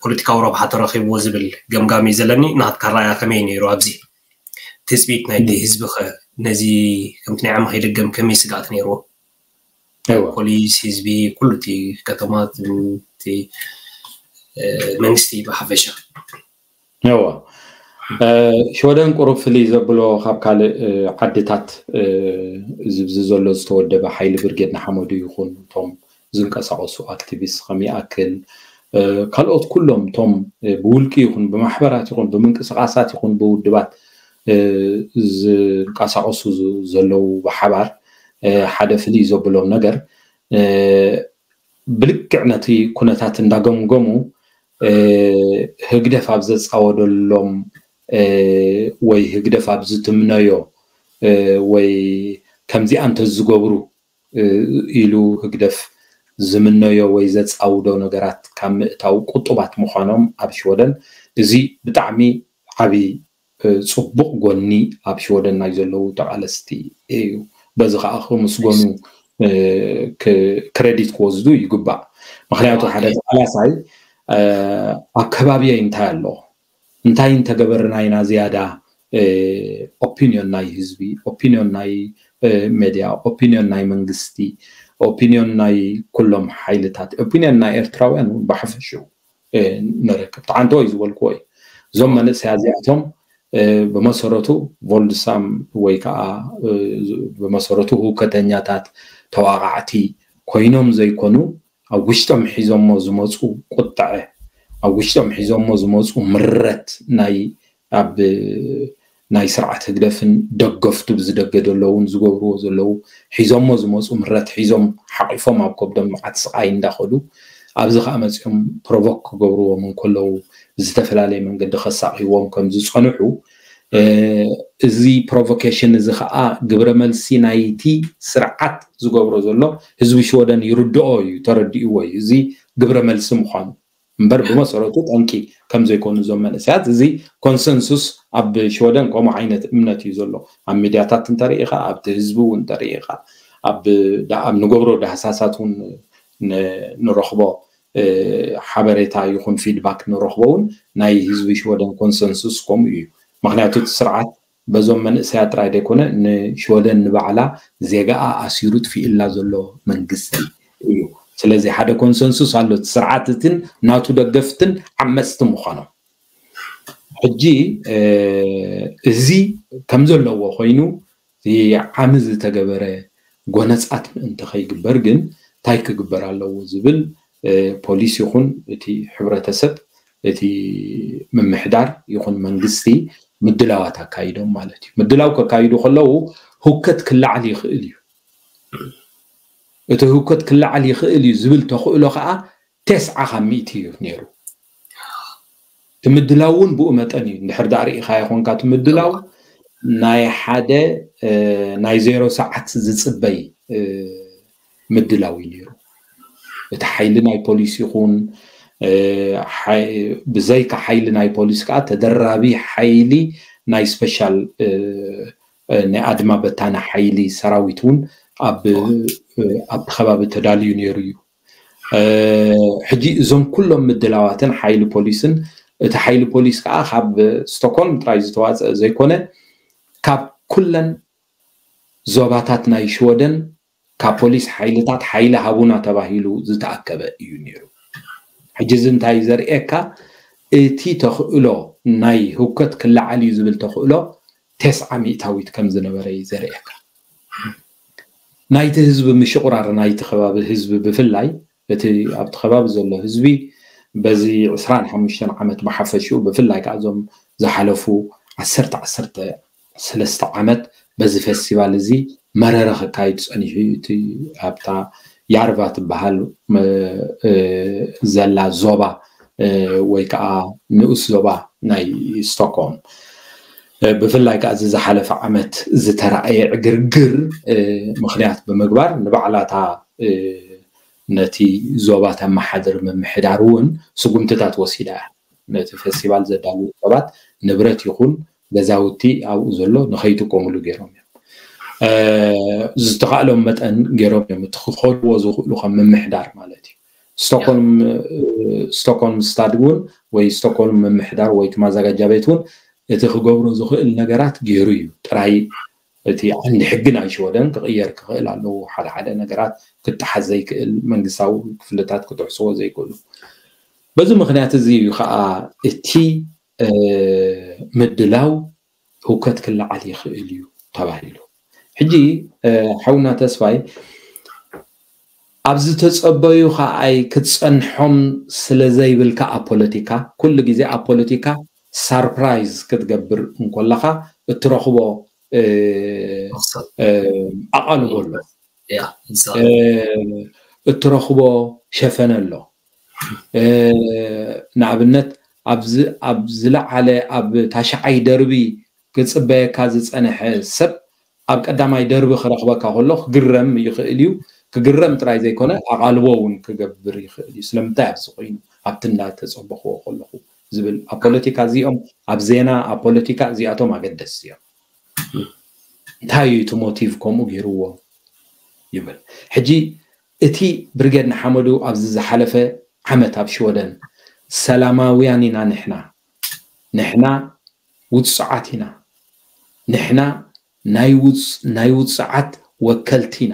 ፖለቲካዊ ረብሓ ተረኺብዎ ዝብል ገምጋም እዩ ዘለኒ። ናትካ ራእያ ከመይ ነይሩ ኣብዚ ትፅቢት ናይቲ ህዝቢ ኸ ነዚ ከምቲ ናይ ዓሚ ከይደገም ከመይ ስግኣት ነይርዎ? ፖሊስ፣ ህዝቢ፣ ኩሉ እቲ ከተማ እቲ መንግስቲ ብሓፈሻ እወ ሽወደን ቁሩብ ፍልይ ዘብሎ ካብ ካልእ ዓድታት እዚ ዘሎ ዝተወደበ ሓይሊ ብርጌድ ንሓመዱ ይኹን እቶም ዝንቀሳቐሱ ኣክቲቪስት ከም ይኣክል ካልኦት ኩሎም እቶም ብውልቂ ይኹን ብማሕበራት ይኹን ብምንቅስቃሳት ይኹን ብውድባት ዝንቀሳቐሱ ዘለዉ ብሓባር ሓደ ፍልይ ዘብሎም ነገር ብልክዕ ነቲ ኩነታት እንዳገምገሙ ህግደፍ ኣብ ዘፃወደሎም ወይ ህግደፍ ኣብ ዝትምነዮ ወይ ከምዚኣ እንተዝገብሩ ኢሉ ህግደፍ ዝምነዮ ወይ ዘፃውዶ ነገራት ካብ ምእታው ቁጡባት ምዃኖም ኣብ ሽወደን እዚ ብጣዕሚ ዓብዪ ፅቡቕ ጎኒ ኣብ ሽወደን ናይ ዘለዉ ተቓለስቲ እዩ። በዚ ከዓ ክምስገኑ ክረዲት ክወስዱ ይግባእ። ምክንያቱ ሓደ ተቓላሳይ ኣብ ከባቢየይ እንታይ ኣሎ እንታይ እንተገበርና ኢና ዝያዳ ኦፒንዮን ናይ ህዝቢ ኦፒንዮን ናይ ሜድያ ኦፒንዮን ናይ መንግስቲ ኦፒንዮን ናይ ኩሎም ሓይልታት ኦፒንዮን ናይ ኤርትራውያን እውን ብሓፈሽኡ ንረክብ ተዓንተወይ ዝበልክዎ እዩ እዞም መንእሰያ እዚኣቶም ብመሰረቱ ቮልድሳም ወይ ከዓ ብመሰረቱ ህውከተኛታት ተዋቃዕቲ ኮይኖም ዘይኮኑ ኣብ ውሽጦም ሒዞሞ ዝመፁ ቁጥዐ፣ ኣብ ውሽጦም ሒዞሞ ዝመፁ ምረት ናይ ኣብ ናይ ስርዓት ህግደፍን ደገፍቱ ብዝደገ ዘለውን ዝገብርዎ ዘለዉ ሒዞሞ ዝመፁ ምረት ሒዞም ሓቂፎም ኣብ ከብዶም መዓት ስቃይ እንዳኸዱ ኣብዚ ከዓ መፂኦም ፕሮቮክ ክገብርዎም እንከለዉ ብዝተፈላለየ መንገዲ ከሳቅይዎም ከም ዝፀንሑ እዚ ፕሮቮኬሽን እዚ ከዓ ግብረ መልሲ ናይቲ ስርዓት ዝገብሮ ዘሎ ህዝቢ ሽወደን ይርድኦ እዩ፣ ተረዲእዎ እዩ። እዚ ግብረ መልሲ ምዃኑ እምበር ብመሰረቱ ጠንቂ ከም ዘይኮኑ እዞም መንእሰያት እዚ ኮንሰንሱስ ኣብ ሽወደን ከምኡ ዓይነት እምነት እዩ ዘሎ። ኣብ ሚድያታት እንተርኢ ኢኻ ኣብቲ ህዝቢ እውን እንተርኢ ኢኻ ኣብ ንገብሮ ዳህሳሳት እውን ንረኽቦ ሓበሬታ ይኹን ፊድባክ ንረኽቦ እውን ናይ ህዝቢ ሽወደን ኮንሰንሱስ ከምኡ እዩ። ምክንያቱ እቲ ስርዓት በዞም መንእሰያት ጥራይ ዘይኮነ ንሽወደን ንባዕላ ዜጋኣ ኣሲሩ ጥፊእላ ዘሎ መንግስቲ እዩ። ስለዚ ሓደ ኮንሰንሱስ ኣሎ፣ እቲ ስርዓት እትን ናቱ ደገፍትን ዓመፅቲ ምዃኖም። ሕጂ እዚ ከም ዘለዎ ኮይኑ ዓሚ ዝተገበረ ጎነፃት ምእንቲ ከይግበር ግን እንታይ ክግበር ኣለዎ ዝብል ፖሊስ ይኹን እቲ ሕብረተሰብ እቲ ምምሕዳር ይኹን መንግስቲ ምድላዋት ኣካይዶም ማለት እዩ። ምድላው ከካይዱ ከለዉ ህውከት ክለዓል ይኽእል እዩ። እቲ ህውከት ክለዓል ይኽእል እዩ ዝብል ተኽእሎ ከዓ ተስዓ ካብ ሚእቲ እዩ ነይሩ። እቲ ምድላው እውን ብኡ መጠን እዩ። እንድሕር ዳኣ ርኢኻዮ ኮንካ እቲ ምድላው ናይ ሓደ ናይ ዜሮ ሰዓት ዝፅበይ ምድላው እዩ ነይሩ። እቲ ሓይሊ ናይ ፖሊስ ይኹን ብዘይካ ሓይሊ ናይ ፖሊስ ከዓ ተደራቢ ሓይሊ ናይ ስፔሻል ናይ ኣድማ በታኒ ሓይሊ ሰራዊት እውን ኣብቲ ከባቢ ተዳልዩ ነይሩ እዩ። ሕጂ እዞም ኩሎም ምድላዋትን ሓይሊ ፖሊስን እቲ ሓይሊ ፖሊስ ከዓ ካብ ስቶኮልም ጥራይ ዝተዋፀአ ዘይኮነ ካብ ኩለን ዞባታት ናይ ሽወደን ካብ ፖሊስ ሓይልታት ሓይሊ ሃቡና ተባሂሉ ዝተኣከበ እዩ ነይሩ። ሕጂ እዚ እንታይ ዘርእየካ እቲ ተኽእሎ ናይ ህውከት ክለዓል እዩ ዝብል ተኽእሎ ተስዓ ሚእታዊት ከም ዝነበረ እዩ ዘርእየካ። ናይቲ ህዝቢ ምሽቑራር ናይቲ ከባቢ ህዝቢ ብፍላይ እቲ ኣብቲ ከባቢ ዘሎ ህዝቢ በዚ ዕስራን ሓሙሽተን ዓመት ብሓፈሽኡ ብፍላይ ከዓ እዞም ዝሓለፉ ዓሰርተ ዓሰርተ ሰለስተ ዓመት በዚ ፌስቲቫል እዚ መረረ ክካይድ ፀኒሑ እቲ ኣብታ ያርቫ ትበሃል ዘላ ዞባ ወይ ከዓ ንኡስ ዞባ ናይ ስቶክሆልም ብፍላይ ከዓ እዚ ዝሓለፈ ዓመት ዝተረኣየ ዕግርግር ምክንያት ብምግባር ንባዕላታ ነቲ ዞባ ተመሓድር ምምሕዳር እውን ስጉምትታት ወሲዳ እያ። ነቲ ፌስቲቫል ዘዳልዉ ሰባት ንብረት ይኹን ገዛውቲ ኣብኡ ዘሎ ንኸይጥቀሙሉ ገይሮም እዮም። ዝተኻእሎም መጠን ገይሮም እዮም እቲ ክኸድዎ ዝኽእሉ ከም ምምሕዳር ማለት እዩ። ስቶኮልም ስታድ እውን ወይ ስቶኮልም ምምሕዳር ወይ እቲ ማዘጋጃ ቤት እውን እቲ ክገብሮ ዝኽእል ነገራት ገይሩ እዩ። ጥራይ እቲ ዓንዲ ሕጊ ናይ ሽወደን ክቕየር ክኽእል ኣለዎ። ሓደ ሓደ ነገራት ክጠሓስ ዘይክእል መንግስታዊ ክፍልታት ክጥሕስዎ ዘይክእሉ። በዚ ምክንያት እዚ እዩ ከዓ እቲ ምድላው ህውከት ክለዓል ይኽእል እዩ ተባሂሉ። ሕጂ ሓውና ተስፋይ ኣብ ዝተፀበዩ ከዓይ ክትፀንሖም ስለ ዘይብልካ ኣብ ፖለቲካ ኩሉ ግዜ ኣብ ፖለቲካ ሳርፕራይዝ ክትገብር እንኮለካ እትረኽቦ ኣቓልቦ ኣሎ፣ እትረኽቦ ሸፈነ ኣሎ። ንኣብነት ኣብ ዝለዓለ ኣብ ታሽዓይ ደርቢ ክፅበየካ ዝፀንሐ ሰብ ኣብ ቀዳማይ ደርቢ ክረኽበካ ከሎ ክግረም ይኽእል እዩ። ክግረም ጥራይ ዘይኮነ ኣቓልቦ እውን ክገብር ይኽእል እዩ። ስለምንታይ ኣብዚ ኮይኑ ኣብቲ እንዳተፀበኽዎ ከለኹ ዝብል ኣብ ፖለቲካ እዚኦም ኣብ ዜና ኣብ ፖለቲካ እዚኣቶም ኣገደስቲ እዮም። እንታይ እዩ እቲ ሞቲቭ ከምኡ ገይርዎ ይብል። ሕጂ እቲ ብርጌድ ንሓመዱ ኣብዚ ዝሓለፈ ዓመት ኣብ ሽወደን ሰላማውያን ኢና ንሕና፣ ንሕና ውፅዓት ኢና፣ ንሕና ናይ ውፅዓት ወከልቲ ኢና፣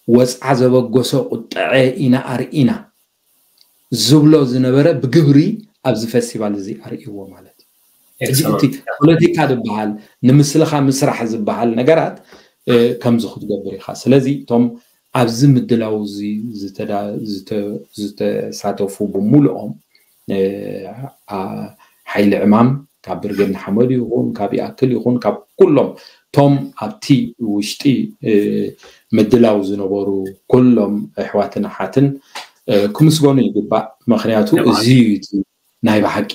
ወፅዓ ዘበገሶ ቁጠዐ ኢና ኣርኢና ዝብሎ ዝነበረ ብግብሪ ኣብዚ ፌስቲቫል እዚ ኣርእይዎ ማለት እዩ። ሕጂ እቲ ፖለቲካ ዝበሃል ንምስልኻ ምስራሕ ዝበሃል ነገራት ከምዚ ክትገብር ኢኻ። ስለዚ እቶም ኣብዚ ምድላው እዚ ዝተሳተፉ ብምሉኦም ሓይሊ ዕማም ካብ ብርጌድ ንሓመዱ ይኹን ካብ ይኣክል ይኹን ካብ ኩሎም እቶም ኣብቲ ውሽጢ ምድላው ዝነበሩ ኩሎም ኣሕዋትን ኣሓትን ክምስገኑ ይግባእ። ምክንያቱ እዚ ናይ ብሓቂ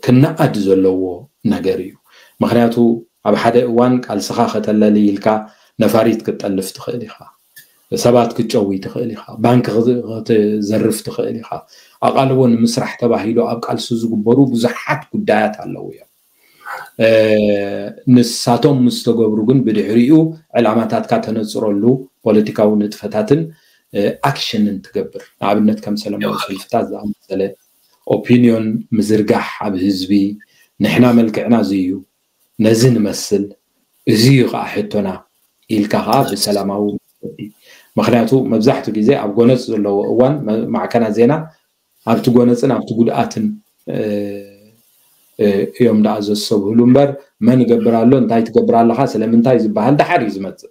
ክነኣድ ዘለዎ ነገር እዩ። ምክንያቱ ኣብ ሓደ እዋን ቃልስኻ ከተለሊ ኢልካ ነፋሪት ክትጠልፍ ትኽእል ኢኻ፣ ሰባት ክትጨዊ ትኽእል ኢኻ፣ ባንክ ክትዘርፍ ትኽእል ኢኻ። ኣቓልቦ ንምስራሕ ተባሂሉ ኣብ ቃልሲ ዝግበሩ ብዙሓት ጉዳያት ኣለዉ እዮም። ንሳቶም ምስ ተገብሩ ግን ብድሕሪኡ ዕላማታትካ ተነፅረሉ ፖለቲካዊ ንጥፈታትን ኣክሽንን ትገብር። ንኣብነት ከም ሰለማዊ ሰልፍታት ዝኣመሰለ ኦፒንዮን ምዝርጋሕ ኣብ ህዝቢ፣ ንሕና መልክዕና እዚ እዩ፣ ነዚ ንመስል፣ እዚ እዩ ከዓ ሕቶና ኢልካ ከዓ ብሰላማዊ መገዲ። ምክንያቱ መብዛሕትኡ ግዜ ኣብ ጎነፅ ዘለዎ እዋን ማዕከናት ዜና ኣብቲ ጎነፅን ኣብቲ ጉድኣትን እዮም ደኣ ዘሰብህሉ እምበር መን ይገብር ኣሎ እንታይ ትገብር ኣለካ ስለምንታይ ዝበሃል ደሓር እዩ ዝመፅእ።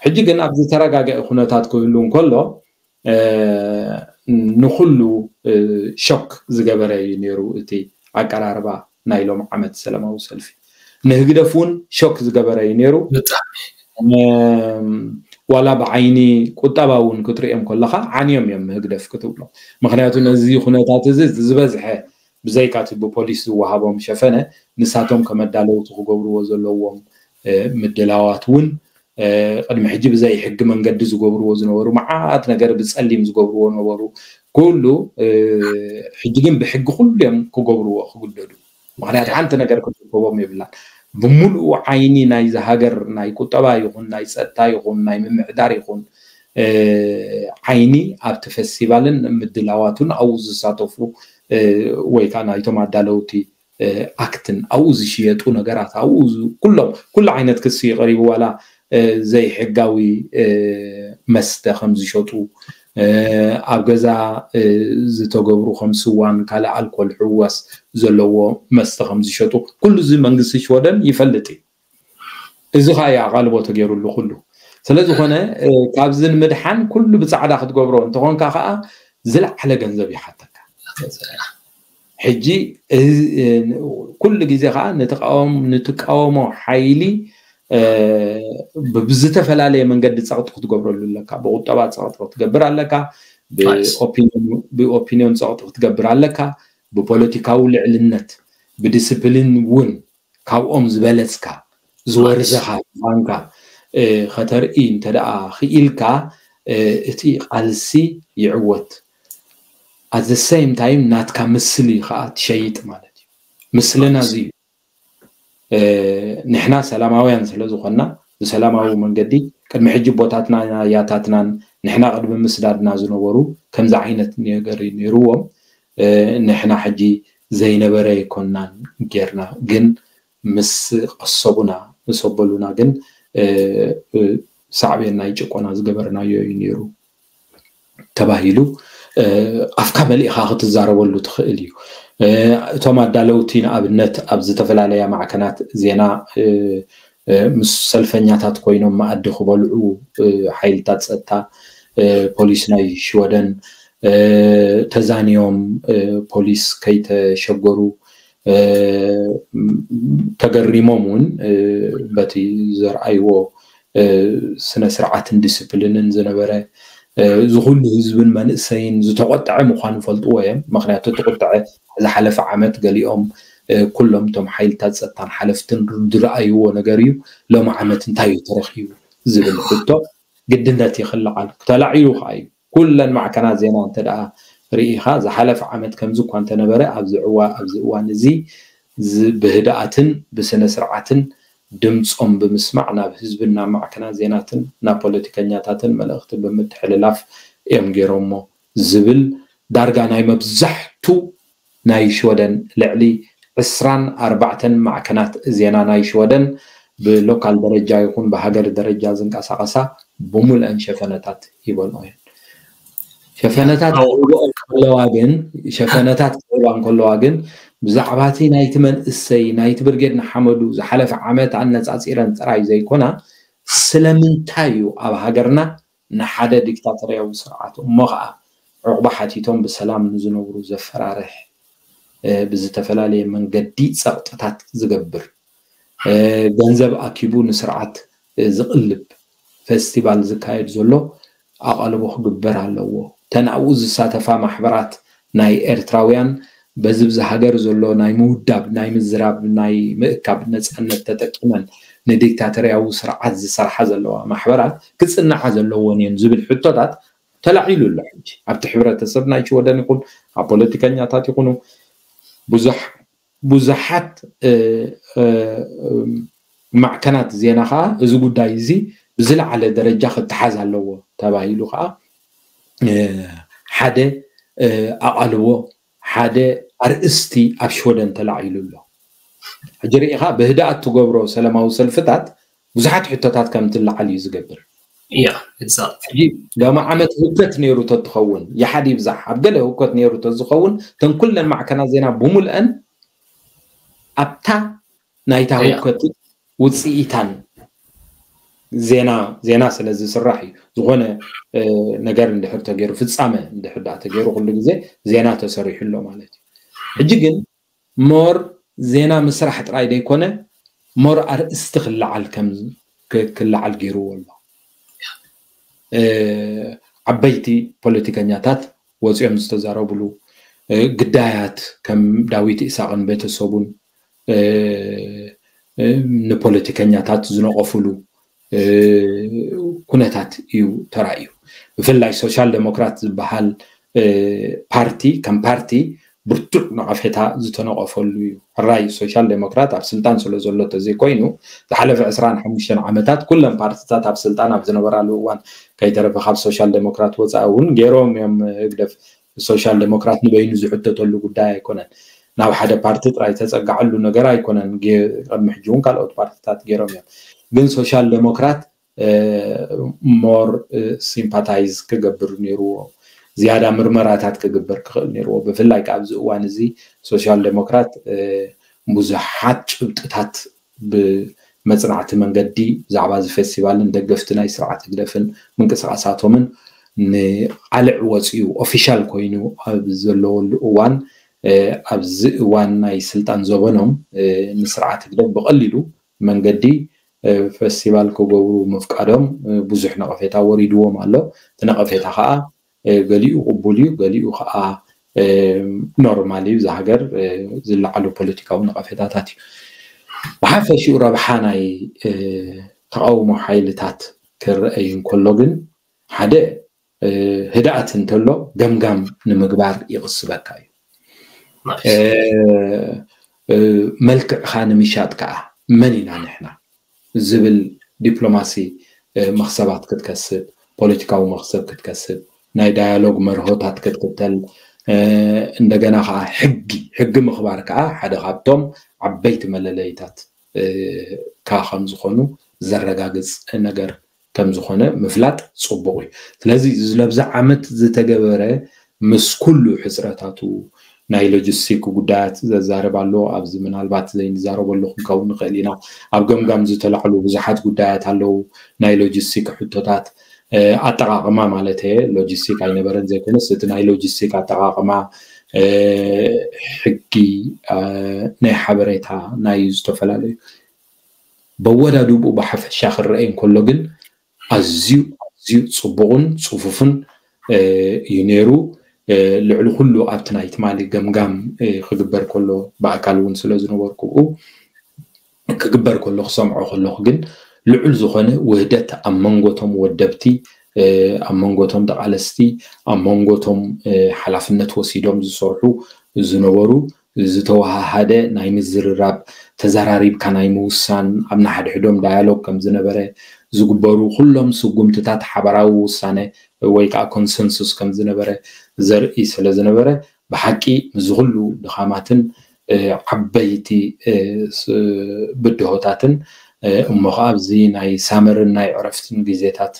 ሕጂ ግን ኣብ ዝተረጋገአ ኩነታት ክህሉ እንከሎ ንኩሉ ሾክ ዝገበረ እዩ ነይሩ እቲ ኣቀራርባ ናይ ሎም ዓመት ሰላማዊ ሰልፊ። ንህግደፍ እውን ሾክ ዝገበረ እዩ ነይሩ። ዋላ ብዓይኒ ቁጠባ እውን ክትሪኦም ከለካ ዓንዮም እዮም ንህግደፍ ክትብሎ። ምክንያቱ ነዚ ኩነታት እዚ ዝበዝሐ ብዘይካ እቲ ብፖሊስ ዝወሃቦም ሸፈነ ንሳቶም ከመዳለውቲ ክገብርዎ ዘለዎም ምድላዋት እውን ቅድሚ ሕጂ ብዘይ ሕጊ መንገዲ ዝገብርዎ ዝነበሩ መዓት ነገር ብፀሊም ዝገብርዎ ነበሩ። ኩሉ ሕጂ ግን ብሕጊ ኩሉ እዮም ክገብርዎ ክግደዱ። ምክንያቱ ሓንቲ ነገር ክትርከቦም የብላን። ብምሉኡ ዓይኒ ናይዚ ሃገር ናይ ቁጠባ ይኹን ናይ ፀጥታ ይኹን ናይ ምምሕዳር ይኹን ዓይኒ ኣብቲ ፈስቲቫልን ምድላዋቱን ኣብኡ ዝሳተፉ ወይ ከዓ ናይቶም ኣዳለውቲ ኣክትን ኣብኡ ዝሽየጡ ነገራት ኣብኡ ኩሎም ኩሉ ዓይነት ክሲ ይቐሪቡ ዋላ ዘይሕጋዊ መስተ ከም ዝሸጡ ኣብ ገዛ ዝተገብሩ ከም ስዋን ካልእ ኣልኮል ሕዋስ ዘለዎ መስተ ከም ዝሸጡ ኩሉ እዚ መንግስቲ ሽወደን ይፈልጥ እዩ። እዚ ከዓ እዩ ኣቓልቦ ተገይሩሉ ኩሉ። ስለዝኾነ ካብዚ ንምድሓን ኩሉ ብፃዕዳ ክትገብሮ እንተኾንካ ከዓ ዝለዓለ ገንዘብ ይሓተካ። ሕጂ ኩሉ ግዜ ከዓ ንትቃወሞ ሓይሊ ብዝተፈላለየ መንገዲ ፀቕጢ ክትገብረሉ ኣለካ። ብቁጠባ ፀቕጢ ክትገብር ኣለካ፣ ብኦፒኒዮን ፀቕጢ ክትገብር ኣለካ፣ ብፖለቲካዊ ልዕልነት ብዲስፕሊን እውን ካብኦም ዝበለፅካ ዝወርዘኻ ምዃንካ ከተርኢ እንተደኣ ክኢልካ እቲ ቃልሲ ይዕወት። ኣት ዘ ሴም ታይም ናትካ ምስሊ ከዓ ትሸይጥ ማለት እዩ። ምስልና እዚ እዩ። ንሕና ሰላማውያን ስለ ዝኾንና ብሰላማዊ መንገዲ ቅድሚ ሕጂ ቦታትና ያታትናን ንሕና ቅድሚ ምስዳድና ዝነበሩ ከምዚ ዓይነት ነገር ነይርዎም። ንሕና ሕጂ ዘይነበረ ኣይኮንናን ጌርና፣ ግን ምስ ቀሰቡና ምስ ኣበሉና ግን ሳዕቤን ናይ ጭቆና ዝገበርናዮ እዩ ነይሩ ተባሂሉ ኣፍካ መሊእኻ ክትዛረበሉ ትኽእል እዩ። እቶም ኣዳለውቲ ንኣብነት ኣብ ዝተፈላለያ ማዕከናት ዜና ምስ ሰልፈኛታት ኮይኖም መኣዲ ክበልዑ ሓይልታት ፀጥታ ፖሊስ ናይ ሽወደን ተዛንዮም ፖሊስ ከይተሸገሩ ተገሪሞም እውን በቲ ዘርኣይዎ ስነ ስርዓትን ዲስፕሊንን ዝነበረ እዚ ኩሉ ህዝብን መንእሰይን ዝተቆጠዐ ምዃኑ ፈልጥዎ እዮም። ምክንያቱ እቲ ቁጠዐ ዝሓለፈ ዓመት ገሊኦም ኩሎም እቶም ሓይልታት ፀጥታን ሓለፍትን ዝረኣይዎ ነገር እዩ። ሎም ዓመት እንታይ እዩ ተረኪቡ ዝብል ሕቶ ግድነት ይክልዓል ተላዒሉ ከዓ እዩ። ኩለን ማዕከናት ዜና እንተ ደኣ ርኢኻ ዝሓለፈ ዓመት ከምዚ እኳ እንተነበረ ኣብዚ ዕዋ ኣብዚ እዋን እዚ ብህድኣትን ብስነ ስርዓትን ድምፆም ብምስማዕ ናብ ህዝብን ናብ ማዕከናት ዜናትን ናብ ፖለቲከኛታትን መልእኽቲ ብምትሕልላፍ እዮም ገይሮሞ ዝብል ዳርጋ ናይ መብዛሕቱ ናይ ሽወደን ልዕሊ ዕስራን ኣርባዕተን ማዕከናት ዜና ናይ ሽወደን ብሎካል ደረጃ ይኹን ብሃገር ደረጃ ዝንቀሳቐሳ ብምልአን ሸፈነታት ይበልኦ እየን። ሸፈነታት ክህብኦ ከለዋ ግን ሸፈነታት ክህባ እንከለዋ ግን ብዛዕባ እቲ ናይቲ መንእሰይ ናይቲ ብርጌድ ንሓመዱ ዝሓለፈ ዓመት ኣነፃፂረን ጥራይ ዘይኮና፣ ስለምንታይ እዩ ኣብ ሃገርና ንሓደ ዲክታተርያዊ ስርዓት እሞ ከዓ ዕቑባ ሓቲቶም ብሰላም ንዝነብሩ ዘፈራርሕ፣ ብዝተፈላለየ መንገዲ ፀቕጥታት ዝገብር፣ ገንዘብ ኣኪቡ ንስርዓት ዝቕልብ ፌስቲቫል ዝካየድ ዘሎ ኣቓልቦ ክግበር ኣለዎ። ተን ኣብኡ ዝሳተፋ ማሕበራት ናይ ኤርትራውያን በዚ ብዚ ሃገር ዘሎ ናይ ምውዳብ፣ ናይ ምዝራብ፣ ናይ ምእካብ ነፃነት ተጠቂመን ንዲክታተርያዊ ስርዓት ዝሰርሓ ዘለዋ ማሕበራት ክፅንዓ ዘለዎን እየን ዝብል ሕቶታት ተላዒሉ ኣሎ። ሕጂ ኣብቲ ሕብረተሰብ ናይ ሽወደን ይኹን ኣብ ፖለቲከኛታት ይኹኑ ብዙሕ ብዙሓት ማዕከናት ዜና ከዓ እዚ ጉዳይ እዚ ብዝለዓለ ደረጃ ክተሓዝ ኣለዎ ተባሂሉ ከዓ ሓደ ኣቓልቦ፣ ሓደ ኣርእስቲ ኣብ ሽወደን ተላዒሉ ኣሎ። ሕጂ ርኢኻ ብህድኣት ትገብሮ ሰላማዊ ሰልፍታት ብዙሓት ሕቶታት ከም ትለዓል እዩ ዝገብር። ያ ሎሚ ዓመት ህውከት ነይሩ ተትኸውን ይሓድ ይብዛሕ ኣብ ገለ ህውከት ነይሩ ተዝኸውን እተን ኩለን ማዕከናት ዜና ብምልአን ኣብታ ናይታ ህውከት ውፅኢታን ዜና ዜና ስለ ዝስራሕ እዩ። ዝኾነ ነገር እንድሕር ተገይሩ ፍፃመ እንድሕር ዳ ተገይሩ ኩሉ ግዜ ዜና ተሰሪሑ ኣሎ ማለት እዩ። ሕጂ ግን ሞር ዜና ምስራሕ ጥራይ ዘይኮነ ሞር ኣርእስቲ ክለዓል ከም ክለዓል ገይርዎ ኣሎ። ዓበይቲ ፖለቲከኛታት ወፂኦም ዝተዛረብሉ ግዳያት ከም ዳዊት ኢሳቅን ቤተሰቡን ንፖለቲከኛታት ዝነቀፍሉ ኩነታት እዩ ተራእዩ። ብፍላይ ሶሻል ዴሞክራት ዝበሃል ፓርቲ ከም ፓርቲ ብርቱዕ ነቐፌታ ዝተነቐፈሉ እዩ። ሕራይ ሶሻል ዴሞክራት ኣብ ስልጣን ስለ ዘሎ ተዘይኮይኑ ዝሓለፈ ዕስራን ሓሙሽተን ዓመታት ኩለን ፓርትታት ኣብ ስልጣን ኣብ ዝነበራሉ እዋን ከይተረፈ ካብ ሶሻል ዴሞክራት ወፃኢ እውን ገይሮም እዮም። ህግደፍ ሶሻል ዴሞክራት ንበይኑ ዝሕተተሉ ጉዳይ ኣይኮነን። ናብ ሓደ ፓርቲ ጥራይ ተፀጋዐሉ ነገር ኣይኮነን። ቅድሚ ሕጂ እውን ካልኦት ፓርትታት ገይሮም እዮም። ግን ሶሻል ዴሞክራት ሞር ሲምፓታይዝ ክገብር ነይርዎ። ዝያዳ ምርመራታት ክግበር ክኽእል ነይርዎ። ብፍላይ ከዓ ኣብዚ እዋን እዚ ሶሻል ዴሞክራት ብዙሓት ጭብጥታት ብመፅናዕቲ መንገዲ ብዛዕባ እዚ ፌስቲቫልን ደገፍቲ ናይ ስርዓት ህግደፍን ምንቅስቃሳቶምን ንቃልዕ ወፂኡ ኦፊሻል ኮይኑ ኣብ ዘለወሉ እዋን ኣብዚ እዋን ናይ ስልጣን ዘበኖም ንስርዓት ህግደፍ ብቐሊሉ መንገዲ ፌስቲቫል ክገብሩ ምፍቃዶም ብዙሕ ነቐፌታ ወሪድዎም ኣሎ። እቲ ነቐፌታ ከዓ ገሊኡ ቅቡል እዩ፣ ገሊኡ ከዓ ኖርማል እዩ። እዚ ሃገር ዝለዓሉ ፖለቲካዊ ነቐፌታታት እዩ። ብሓፈሽኡ ረብሓ ናይ ተቃውሞ ሓይልታት ክረአይ እንከሎ ግን ሓደ ህድኣት እንተሎ ገምጋም ንምግባር ይቕስበካ እዩ። መልክዕኻ ንምሻጥ ከዓ መን ኢና ንሕና ዝብል ዲፕሎማሲ መኽሰባት ክትከስብ፣ ፖለቲካዊ መኽሰብ ክትከስብ፣ ናይ ዳያሎግ መርሆታት ክትክተል፣ እንደገና ከዓ ሕጊ ሕጊ ምኽባር ከዓ ሓደ ካብቶም ዓበይቲ መለለይታት ካ ከም ዝኾኑ ዘረጋግፅ ነገር ከም ዝኾነ ምፍላጥ ፅቡቕ እዩ። ስለዚ እዚ ለብዛ ዓመት ዝተገበረ ምስ ኩሉ ሕፅረታቱ ናይ ሎጂስቲክ ጉዳያት ዘዛርብ ኣሎ። ኣብዚ ምናልባት ዘይንዛረበሉ ክንከውን ንኽእል ኢና። ኣብ ገምጋም ዝተላዕሉ ብዙሓት ጉዳያት ኣለዉ። ናይ ሎጂስቲክ ሕቶታት ኣጠቓቕማ ማለት እየ። ሎጂስቲክ ኣይነበረን ዘይኮነስ እቲ ናይ ሎጂስቲክ ኣጠቓቕማ ሕጊ ናይ ሓበሬታ ናይ ዝተፈላለዩ በወዳድብኡ ብሓፈሻ ክረአ እንከሎ ግን ኣዝዩ ኣዝዩ ፅቡቕን ፅፉፍን እዩ ነይሩ። ልዕሊ ኩሉ ኣብቲ ናይ ትማሊ ገምጋም ክግበር ከሎ ብኣካል እውን ስለ ዝነበርኩ ብኡ ክግበር ከሎ ክሰምዖ ከለኹ ግን ልዑል ዝኾነ ውህደት ኣብ መንጎቶም ወደብቲ ኣብ መንጎቶም ተቓለስቲ ኣብ መንጎቶም ሓላፍነት ወሲዶም ዝሰርሑ ዝነበሩ ዝተወሃሃደ ናይ ምዝርራብ ተዘራሪብካ ናይ ምውሳን ኣብ ንሓድሕዶም ዳያሎግ ከም ዝነበረ ዝግበሩ ኩሎም ስጉምትታት ሓበራዊ ውሳነ ወይ ከዓ ኮንሰንሱስ ከም ዝነበረ ዘርኢ ስለ ዝነበረ ብሓቂ ምስዚ ኩሉ ድኻማትን ዓበይቲ ብድሆታትን እሞ ከዓ ኣብዚ ናይ ሳመርን ናይ ዕረፍትን ግዜታት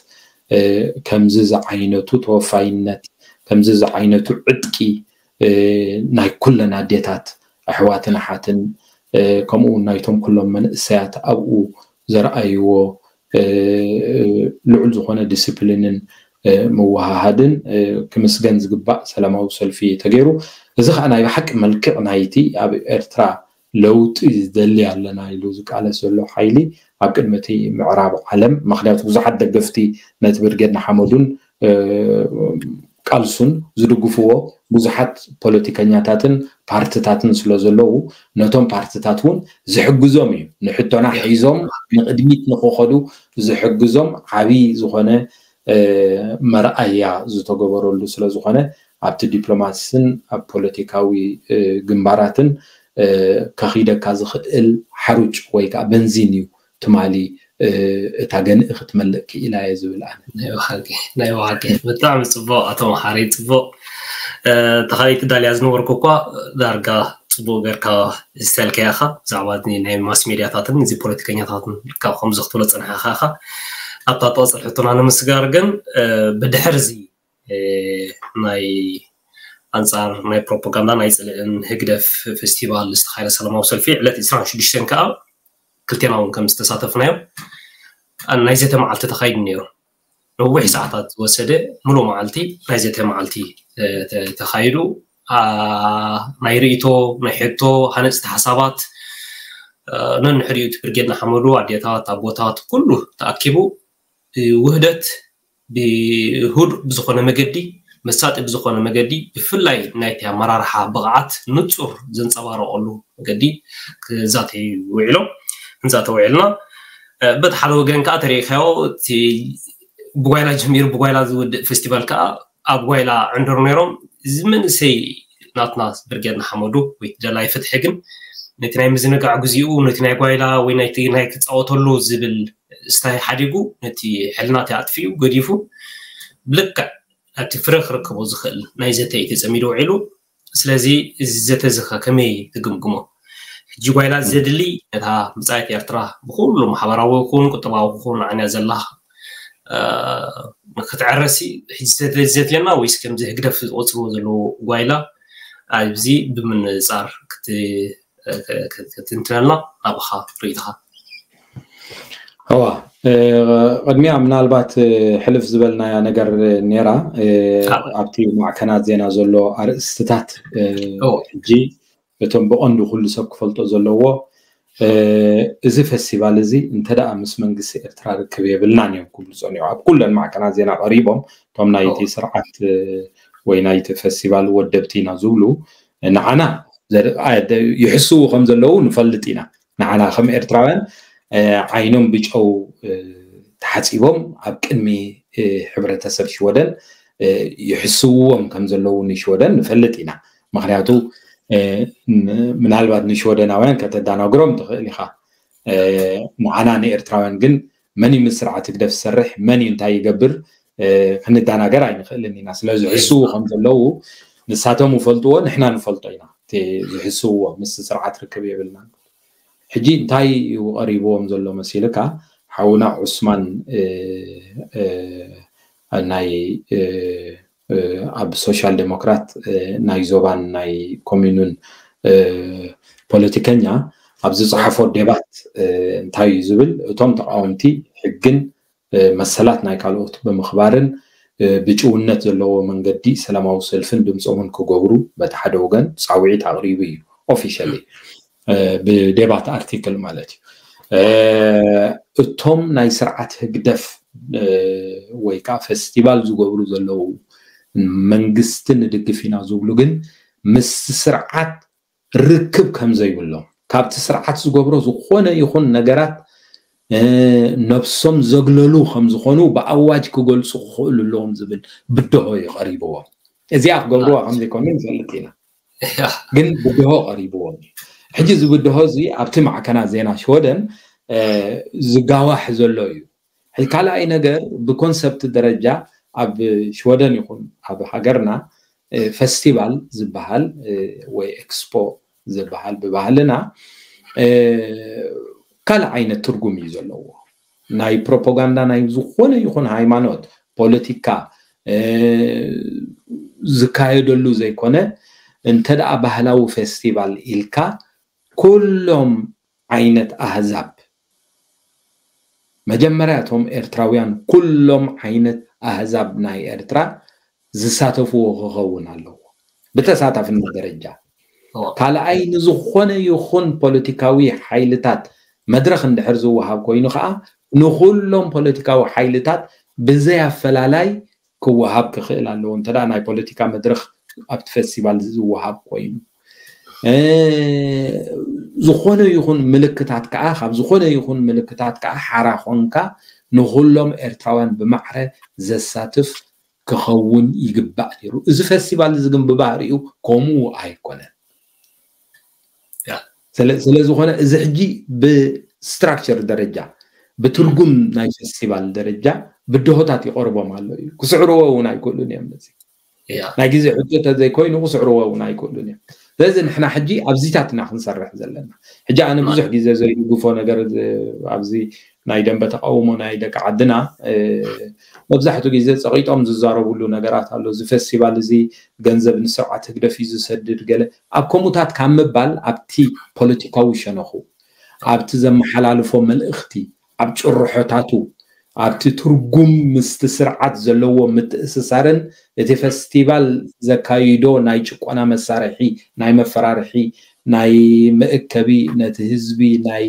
ከምዚ ዝዓይነቱ ተወፋይነት ከምዚ ዝዓይነቱ ዕጥቂ ናይ ኩለን ኣዴታት ኣሕዋትን ኣሓትን ከምኡ እውን ናይቶም ኩሎም መንእሰያት ኣብኡ ዘርኣይዎ ልዑል ዝኾነ ዲስፕሊንን ምውሃሃድን ክምስገን ዝግባእ ሰላማዊ ሰልፊ ተገይሩ። እዚ ከዓ ናይ ብሓቂ መልክዕ ናይቲ ኣብ ኤርትራ ለውጢ ዝደሊ ኣለና ኢሉ ዝቃለስ ዘሎ ሓይሊ ኣብ ቅድሚ እቲ ምዕራብ ዓለም፣ ምክንያቱ ብዙሓት ደገፍቲ ነቲ ብርጌድ ንሓመዱን ቃልሱን ዝድግፍዎ ብዙሓት ፖለቲከኛታትን ፓርትታትን ስለ ዘለዉ፣ ነቶም ፓርትታት እውን ዝሕግዞም እዩ። ንሕቶና ሒዞም ንቕድሚት ንክኸዱ ዝሕግዞም ዓብዪ ዝኾነ መርኣያ ዝተገበረሉ ስለ ዝኾነ፣ ኣብቲ ዲፕሎማሲን ኣብ ፖለቲካዊ ግንባራትን ከኺደካ ዝኽእል ሓሩጭ ወይ ከዓ በንዚን እዩ ትማሊ እታ ገንኢ ክትመልእ ክኢላ እየ ዝብል ኣነ። ናይ ብሓቂ ብጣዕሚ ፅቡቅ ኣቶ መሓሪ፣ ፅቡቅ። ተኻሊት ዳልያ ዝነበርኩ እኳ ዳርጋ ፅቡቅ ጌርካ ዝተልከያ ኢኻ ብዛዕባ ናይ ማስ ሜድያታትን እዚ ፖለቲከኛታትን ካብ ከምዚ ክትብሎ ፀንሓኻ ኢኻ። ኣብታ ትቐፅል ሕቶና ንምስጋር ግን ብድሕር እዚ ናይ ኣንፃር ናይ ፕሮፓጋንዳ ናይ ፅልእን ህግደፍ ፌስቲቫል ዝተኻየደ ሰላማዊ ሰልፊ ዕለት ዕስራን ሽዱሽተን ከዓ ክልቴና እውን ከም ዝተሳተፍናዮ ናይ ዘተ መዓልቲ ተኻይዱ ነይሩ። ነዊሕ ሰዓታት ዝወሰደ ሙሉእ መዓልቲ ናይ ዘተ መዓልቲ ተኻይዱ። ናይ ርእይቶ፣ ናይ ሕቶ፣ ሃነፅቲ ሓሳባት ነንሕድኡ እቲ ብርጌድ ንሓመዱ ኣዴታት ኣቦታት ኩሉ ተኣኪቡ ውህደት ብህዱእ ብዝኾነ መገዲ፣ መሳጢ ብዝኾነ መገዲ፣ ብፍላይ ናይቲ ኣመራርሓ ብቕዓት ንጹር ዘንጸባረቐሉ መገዲ ክዛተዩ ውዒሎም። ክንዛተ ውዒልና። በቲ ሓደ ወገን ከዓ ተሪኢኻዮ፣ እቲ ብጓይላ ጀሚሩ ብጓይላ ዝውድእ ፌስቲቫል ከዓ ኣብ ጓይላ ዕንድሩ ነይሮም። እዚ መንእሰይ ናትና ብርጌድ ንሓመዱ ወይ ደላይ ፍትሒ ግን ነቲ ናይ ምዝንጋዕ ግዚኡ ነቲ ናይ ጓይላ ወይ ናይቲ ናይ ክፃወተሉ ዝብል ስታይ ሓዲጉ ነቲ ሕልናት ኣጥፊኡ ገዲፉ ብልክዕ ኣብቲ ፍረ ክረክቦ ዝኽእል ናይ ዘተ እዩ ተፀሚዱ ውዒሉ። ስለዚ እዚ ዘተ እዚ ከ ከመይ ትግምግሞ? ሕጂ ጓይላ ዘድሊ ነታ መፃኢት ኤርትራ ብኩሉ ማሕበራዊ ይኹን ቁጠባዊ ይኹን ዓንያ ዘላ ክትዕረሲ ሕጂ ዘድልየና ወይስ ከምዚ ህግደፍ ዝቆፅርዎ ዘለዉ ጓይላ ኣብዚ ብምንፃር ክትንትነልና ናብኻ ርእይትኻ? እዋ ቅድሚያ ምናልባት ሕልፍ ዝበልናያ ነገር ነይራ ኣብቲ ማዕከናት ዜና ዘሎ ኣርእስትታት ሕጂ እቶም ብቐንዱ ኩሉ ሰብ ክፈልጦ ዘለዎ እዚ ፈስቲቫል እዚ እንተ ደኣ ምስ መንግስቲ ኤርትራ ርክብ የብልናን እዮም ክብሉ ጸኒሑ ኣብ ኩለን ማዕከናት ዜና ቀሪቦም እቶም ናይቲ ስርዓት ወይ ናይቲ ፈስቲቫል ወደብቲ ኢና ዝብሉ ንዓና ይሕስዉ ከም ዘለዉ ንፈልጥ ኢና። ንዓና ከም ኤርትራውያን ዓይኖም ብጨው ተሓጺቦም ኣብ ቅድሚ ሕብረተሰብ ሽወደን ይሕስውዎም ከም ዘለዉ ንሽወደን ንፈልጥ ኢና። ምክንያቱ ምናልባት ንሽወደናውያን ከተዳናግሮም ትኽእል ኢኻ። ንዓና ንኤርትራውያን ግን መን እዩ ምስ ስርዓት ህግደፍ ዝሰርሕ፣ መን እዩ እንታይ ይገብር ክንዳናገር ኣይንኽእልን ኢና። ስለዚ ዝሕስዉ ከም ዘለዉ ንሳቶም ይፈልጥዎ፣ ንሕና ንፈልጦ ኢና። እቲ ዝሕስውዎ ምስ ስርዓት ርክብ የብልናን። ሕጂ እንታይ እዩ ቀሪብዎም ዘሎ መሲልካ? ሓውና ዑስማን ናይ ኣብ ሶሻል ዴሞክራት ናይ ዞባን ናይ ኮሚኑን ፖለቲከኛ ኣብ ዝፀሓፎ ዴባት እንታይ እዩ ዝብል? እቶም ተቃወምቲ ሕግን መሰላት ናይ ካልኦት ብምኽባርን ብጭውነት ዘለዎ መንገዲ ሰላማዊ ሰልፍን ድምፆምን ክገብሩ በቲ ሓደ ወገን ፃውዒት ኣቕሪቡ እዩ ኦፊሻሊ ብዴባት ኣርቲክል ማለት እዩ። እቶም ናይ ስርዓት ህግደፍ ወይ ከዓ ፈስቲቫል ዝገብሩ ዘለዉ መንግስቲ ንድግፍ ኢና ዝብሉ ግን ምስ ስርዓት ርክብ ከም ዘይብሎም ካብቲ ስርዓት ዝገብሮ ዝኾነ ይኹን ነገራት ነብሶም ዘግለሉ ከም ዝኾኑ ብኣዋጅ ክገልፁ ክኽእሉ ኣለዎም ዝብል ብድሆ እዩ ቀሪብዎም። እዚኣ ክገብርዋ ከም ዘይኮኑ ንፈልጥ ኢና። ግን ብድሆ ቀሪብዎም እዩ። ሕጂ እዚ ብድሆ እዚ ኣብቲ ማዕከናት ዜና ሽወደን ዝጋዋሕ ዘሎ እዩ። ካልኣይ ነገር ብኮንሰፕት ደረጃ ኣብ ሽወደን ይኹን ኣብ ሃገርና ፈስቲቫል ዝበሃል ወይ ኤክስፖ ዝበሃል ብባህልና ካልእ ዓይነት ትርጉም እዩ ዘለዎ። ናይ ፕሮፓጋንዳ ናይ ዝኾነ ይኹን ሃይማኖት፣ ፖለቲካ ዝካየደሉ ዘይኮነ እንተ ደኣ ባህላዊ ፌስቲቫል ኢልካ ኩሎም ዓይነት ኣህዛብ፣ መጀመርያ እቶም ኤርትራውያን ኩሎም ዓይነት ኣህዛብ ናይ ኤርትራ ዝሳተፍዎ ክኸውን ኣለዎ ብተሳታፍነት ደረጃ። ካልኣይ፣ ንዝኾነ ይኹን ፖለቲካዊ ሓይልታት መድረኽ እንድሕር ዝወሃብ ኮይኑ ከዓ ንኩሎም ፖለቲካዊ ሓይልታት ብዘይ ኣፈላላይ ክወሃብ ክኽእል ኣለዎ። እንተ ናይ ፖለቲካ መድረኽ ኣብቲ ፌስቲቫል ዝወሃብ ኮይኑ፣ ዝኾነ ይኹን ምልክታት ከዓ ካብ ዝኾነ ይኹን ምልክታት ከዓ ሓራ ኮንካ ንኩሎም ኤርትራውያን ብማዕረ ዘሳትፍ ክኸውን ይግባእ ነይሩ። እዚ ፌስቲቫል እዚ ግን ብባህሪኡ ከምኡ ኣይኮነን። ስለዝኾነ እዚ ሕጂ ብስትራክቸር ደረጃ ብትርጉም ናይ ፌስቲቫል ደረጃ ብድሆታት ይቐርቦም ኣሎ እዩ። ክስዕርዎ እውን ኣይክእሉን እዮም። ነዚ ናይ ግዜ ሕቶ ተዘይኮይኑ ክስዕርዎ እውን ኣይክእሉን እዮም። ስለዚ ንሕና ሕጂ ኣብዚታት ኢና ክንሰርሕ ዘለና። ሕጂ ኣነ ብዙሕ ግዜ ዘይድግፎ ነገር ኣብዚ ናይ ደንበ ተቃውሞ ናይ ደቂ ዓድና መብዛሕትኡ ግዜ ጸቂጦም ዝዛረብሉ ነገራት ኣሎ። እዚ ፌስቲቫል እዚ ገንዘብ ንስርዓት ህግደፍ እዩ ዝሰድድ ገለ ኣብ ከምኡታት ካብ ምባል ኣብቲ ፖለቲካዊ ሸነኹ ኣብቲ ዘመሓላልፎ መልእኽቲ ኣብ ጭርሖታቱ ኣብቲ ትርጉም ምስቲ ስርዓት ዘለዎ ምትእስሳርን እቲ ፌስቲቫል ዘካይዶ ናይ ጭቆና መሳርሒ ናይ መፈራርሒ ናይ መእከቢ ነቲ ህዝቢ ናይ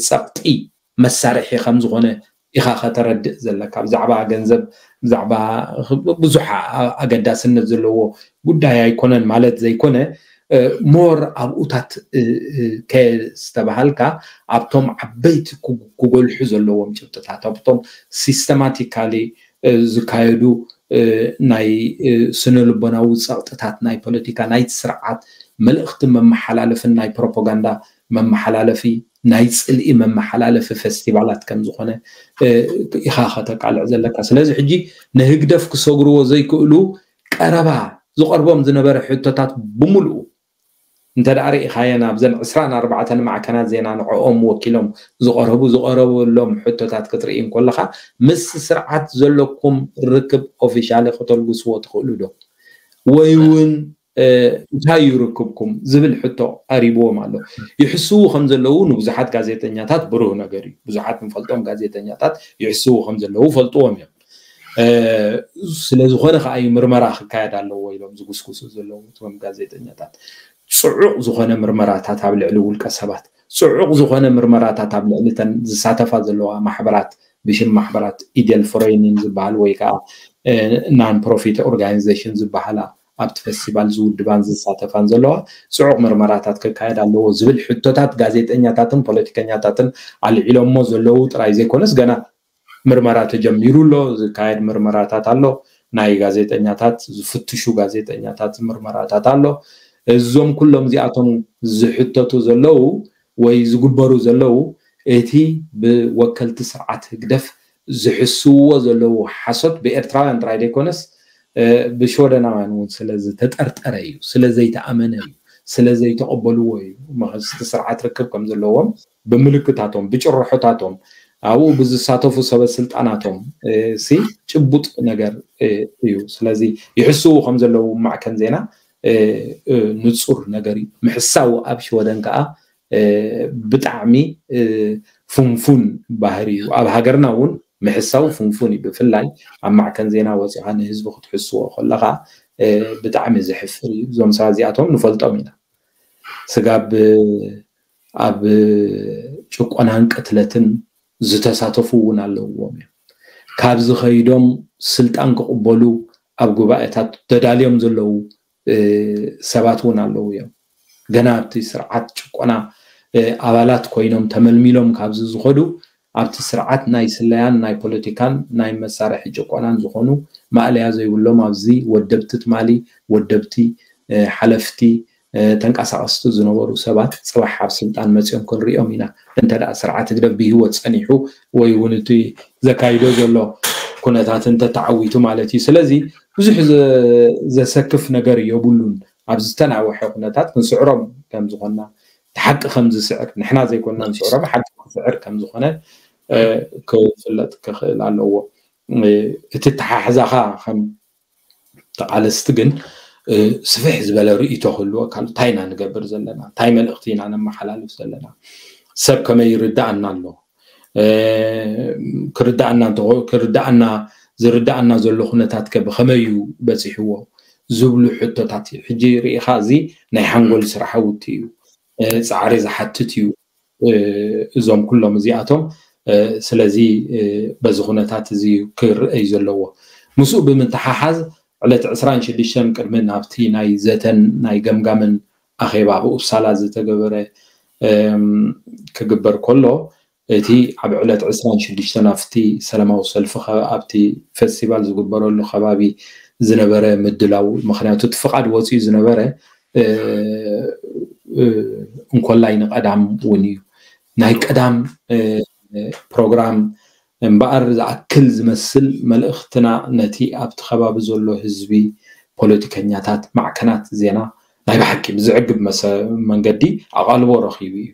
ጸቕጢ መሳርሒ ከም ዝኾነ ኢኻ ከተረድእ ዘለካ። ብዛዕባ ገንዘብ ብዛዕባ ብዙሕ ኣገዳስነት ዘለዎ ጉዳይ ኣይኮነን ማለት ዘይኮነ ሞር ኣብኡታት ከስተባሃልካ ኣብቶም ዓበይቲ ክጎልሑ ዘለዎም ጭብጥታት ኣብቶም ሲስተማቲካሊ ዝካየዱ ናይ ስነ ልቦናዊ ጸቕጥታት ናይ ፖለቲካ ናይቲ ስርዓት መልእኽቲ መመሓላለፍን ናይ ፕሮፓጋንዳ መመሓላለፊ ናይ ጽልኢ መመሓላለፊ ፌስቲቫላት ከም ዝኾነ ኢኻ ከተቃልዕ ዘለካ። ስለዚ ሕጂ ንህግደፍ ክሰግርዎ ዘይክእሉ ቀረባ ዝቐርቦም ዝነበረ ሕቶታት ብምልኡ እንተ ደኣ ርኢኻየን ኣብዘን ዕስራን ኣርባዕተን ማዕከናት ዜና ንዕኦም ወኪሎም ዝቐረቡ ዝቐረበሎም ሕቶታት ክትርኢ እንከለኻ ምስ ስርዓት ዘለኩም ርክብ ኦፊሻሊ ከተልግስዎ ትኽእሉ ዶ? ወይ እውን እንታይ እዩ ርክብኩም ዝብል ሕቶ ቀሪብዎም ኣሎ። ይሕስዉ ከም ዘለዉ ንብዙሓት ጋዜጠኛታት ብሩህ ነገር እዩ። ብዙሓት ንፈልጦም ጋዜጠኛታት ይሕስዉ ከም ዘለዉ ፈልጥዎም እዮም። ስለዝኾነ ከዓ እዩ ምርመራ ክካየድ ኣለዎ ኢሎም ዝጉስጉሱ ዘለዉ እቶም ጋዜጠኛታት። ፅዑቕ ዝኾነ ምርመራታት ኣብ ልዕሊ ውልቀ ሰባት፣ ፅዑቕ ዝኾነ ምርመራታት ኣብ ልዕሊ ተን ዝሳተፋ ዘለዋ ማሕበራት ብሽም ማሕበራት ኢደል ፍረይኒን ዝበሃል ወይ ከዓ ናን ፕሮፊት ኦርጋናይዜሽን ዝበሃላ ኣብቲ ፌስቲቫል ዝውድባን ዝሳተፋን ዘለዋ ፅዑቕ ምርመራታት ክካየድ ኣለዎ ዝብል ሕቶታት ጋዜጠኛታትን ፖለቲከኛታትን ኣልዒሎሞ ዘለዉ ጥራይ ዘይኮነስ ገና ምርመራ ተጀሚሩ ኣሎ። ዝካየድ ምርመራታት ኣሎ። ናይ ጋዜጠኛታት ዝፍትሹ ጋዜጠኛታት ምርመራታት ኣሎ። እዞም ኩሎም እዚኣቶም ዝሕተቱ ዘለዉ ወይ ዝግበሩ ዘለዉ እቲ ብወከልቲ ስርዓት ህግደፍ ዝሕስውዎ ዘለዉ ሓሶት ብኤርትራውያን ጥራይ ዘይኮነስ ብሽወደናውያን እውን ስለ ዝተጠርጠረ እዩ፣ ስለ ዘይተኣመነ እዩ፣ ስለ ዘይተቐበልዎ እዩ። እቲ ስርዓት ርክብ ከም ዘለዎም ብምልክታቶም ብጭርሖታቶም ኣብኡ ብዝሳተፉ ሰበ ስልጣናቶም ሲ ጭቡጥ ነገር እዩ። ስለዚ ይሕስዉ ከም ዘለዉ ማዕከን ዜና ንፁር ነገር እዩ። ምሕሳው ኣብ ሽወደን ከዓ ብጣዕሚ ፍንፉን ባህሪ እዩ። ኣብ ሃገርና እውን ምሕሳው ፍንፉን እዩ። ብፍላይ ኣብ ማዕከን ዜና ወፂኻ ንህዝቢ ክትሕስዎ ከለኻ ብጣዕሚ ዘሕፍር እዩ። እዞም ሰባት እዚኣቶም ንፈልጦም ኢና። ስጋብ ኣብ ጭቆናን ቅትለትን ዝተሳተፉ እውን ኣለውዎም እዮም። ካብ ዝኸይዶም ስልጣን ክቕበሉ ኣብ ጉባኤታት ተዳልዮም ዘለዉ ሰባት እውን ኣለዉ እዮም። ገና ኣብቲ ስርዓት ጭቆና ኣባላት ኮይኖም ተመልሚሎም ካብዚ ዝኸዱ ኣብቲ ስርዓት ናይ ስለያን ናይ ፖለቲካን ናይ መሳርሒ ጭቆናን ዝኾኑ ማእለያ ዘይብሎም ኣብዚ ወደብቲ ትማሊ ወደብቲ ሓለፍቲ ተንቀሳቐስቲ ዝነበሩ ሰባት ፅባሕ ኣብ ስልጣን መፂኦም ክንሪኦም ኢና። እንተ ደኣ ስርዓት ህግደፍ ብህይወት ፀኒሑ ወይ እውን እቲ ዘካይዶ ዘሎ ኩነታት እንተተዓዊቱ ማለት እዩ። ስለዚ ብዙሕ ዘሰክፍ ነገር የብሉን። ኣብ ዝተናወሐ ኩነታት ክንስዕሮም ከም ዝኾንና እቲ ሓቂ ከም ዝስዕር ንሕና ዘይኮንና ንስዕሮም ሓቂ ክስዕር ከም ዝኾነ ክፍለጥ ክኽእል ኣለዎ። እቲ ተሓሕዛኻ ከም ተቓለስቲ ግን ስፍሕ ዝበለ ርእይቶ ክህልወካ ኣሎ። እንታይ ኢና ንገብር ዘለና? እንታይ መልእኽቲ ኢና ነመሓላልፍ ዘለና? ሰብ ከመይ ይርዳእና ኣሎ? ክርዳእና እንተ- ክርዳእና ዝርዳእና ዘሎ ኩነታት ከ ብኸመይ እዩ በፂሕዎ ዝብሉ ሕቶታት እዩ። ሕጂ ርኢኻ፣ እዚ ናይ ሓንጎል ስራሕውቲ እዩ፣ ፃዕሪ ዝሓትት እዩ። እዞም ኩሎም እዚኣቶም ስለዚ በዚ ኩነታት እዚ ክርአ እዩ ዘለዎ። ምስኡ ብምትሓሓዝ ዕለት ዕስራን ሽዱሽተን ቅድሚ ናብቲ ናይ ዘተን ናይ ገምጋምን ኣኼባ ኣብ ኡፕሳላ ዝተገበረ ክግበር ከሎ፣ እቲ ኣብ ዕለት ዕስራን ሽዱሽተን ኣብቲ ሰላማዊ ሰልፊ ኣብቲ ፌስቲቫል ዝግበረሉ ከባቢ ዝነበረ ምድላው፣ ምክንያቱ እቲ ፍቓድ ወፂኡ ዝነበረ እንኮላይ ንቀዳም እውን እዩ። ናይ ቀዳም ፕሮግራም እምበኣር ዝኣክል ዝመስል መልእኽትና ነቲ ኣብቲ ከባቢ ዘሎ ህዝቢ፣ ፖለቲከኛታት፣ ማዕከናት ዜና ናይ ብሓቂ ብዝዕግብ መንገዲ ኣቓልቦ ረኺቡ እዩ።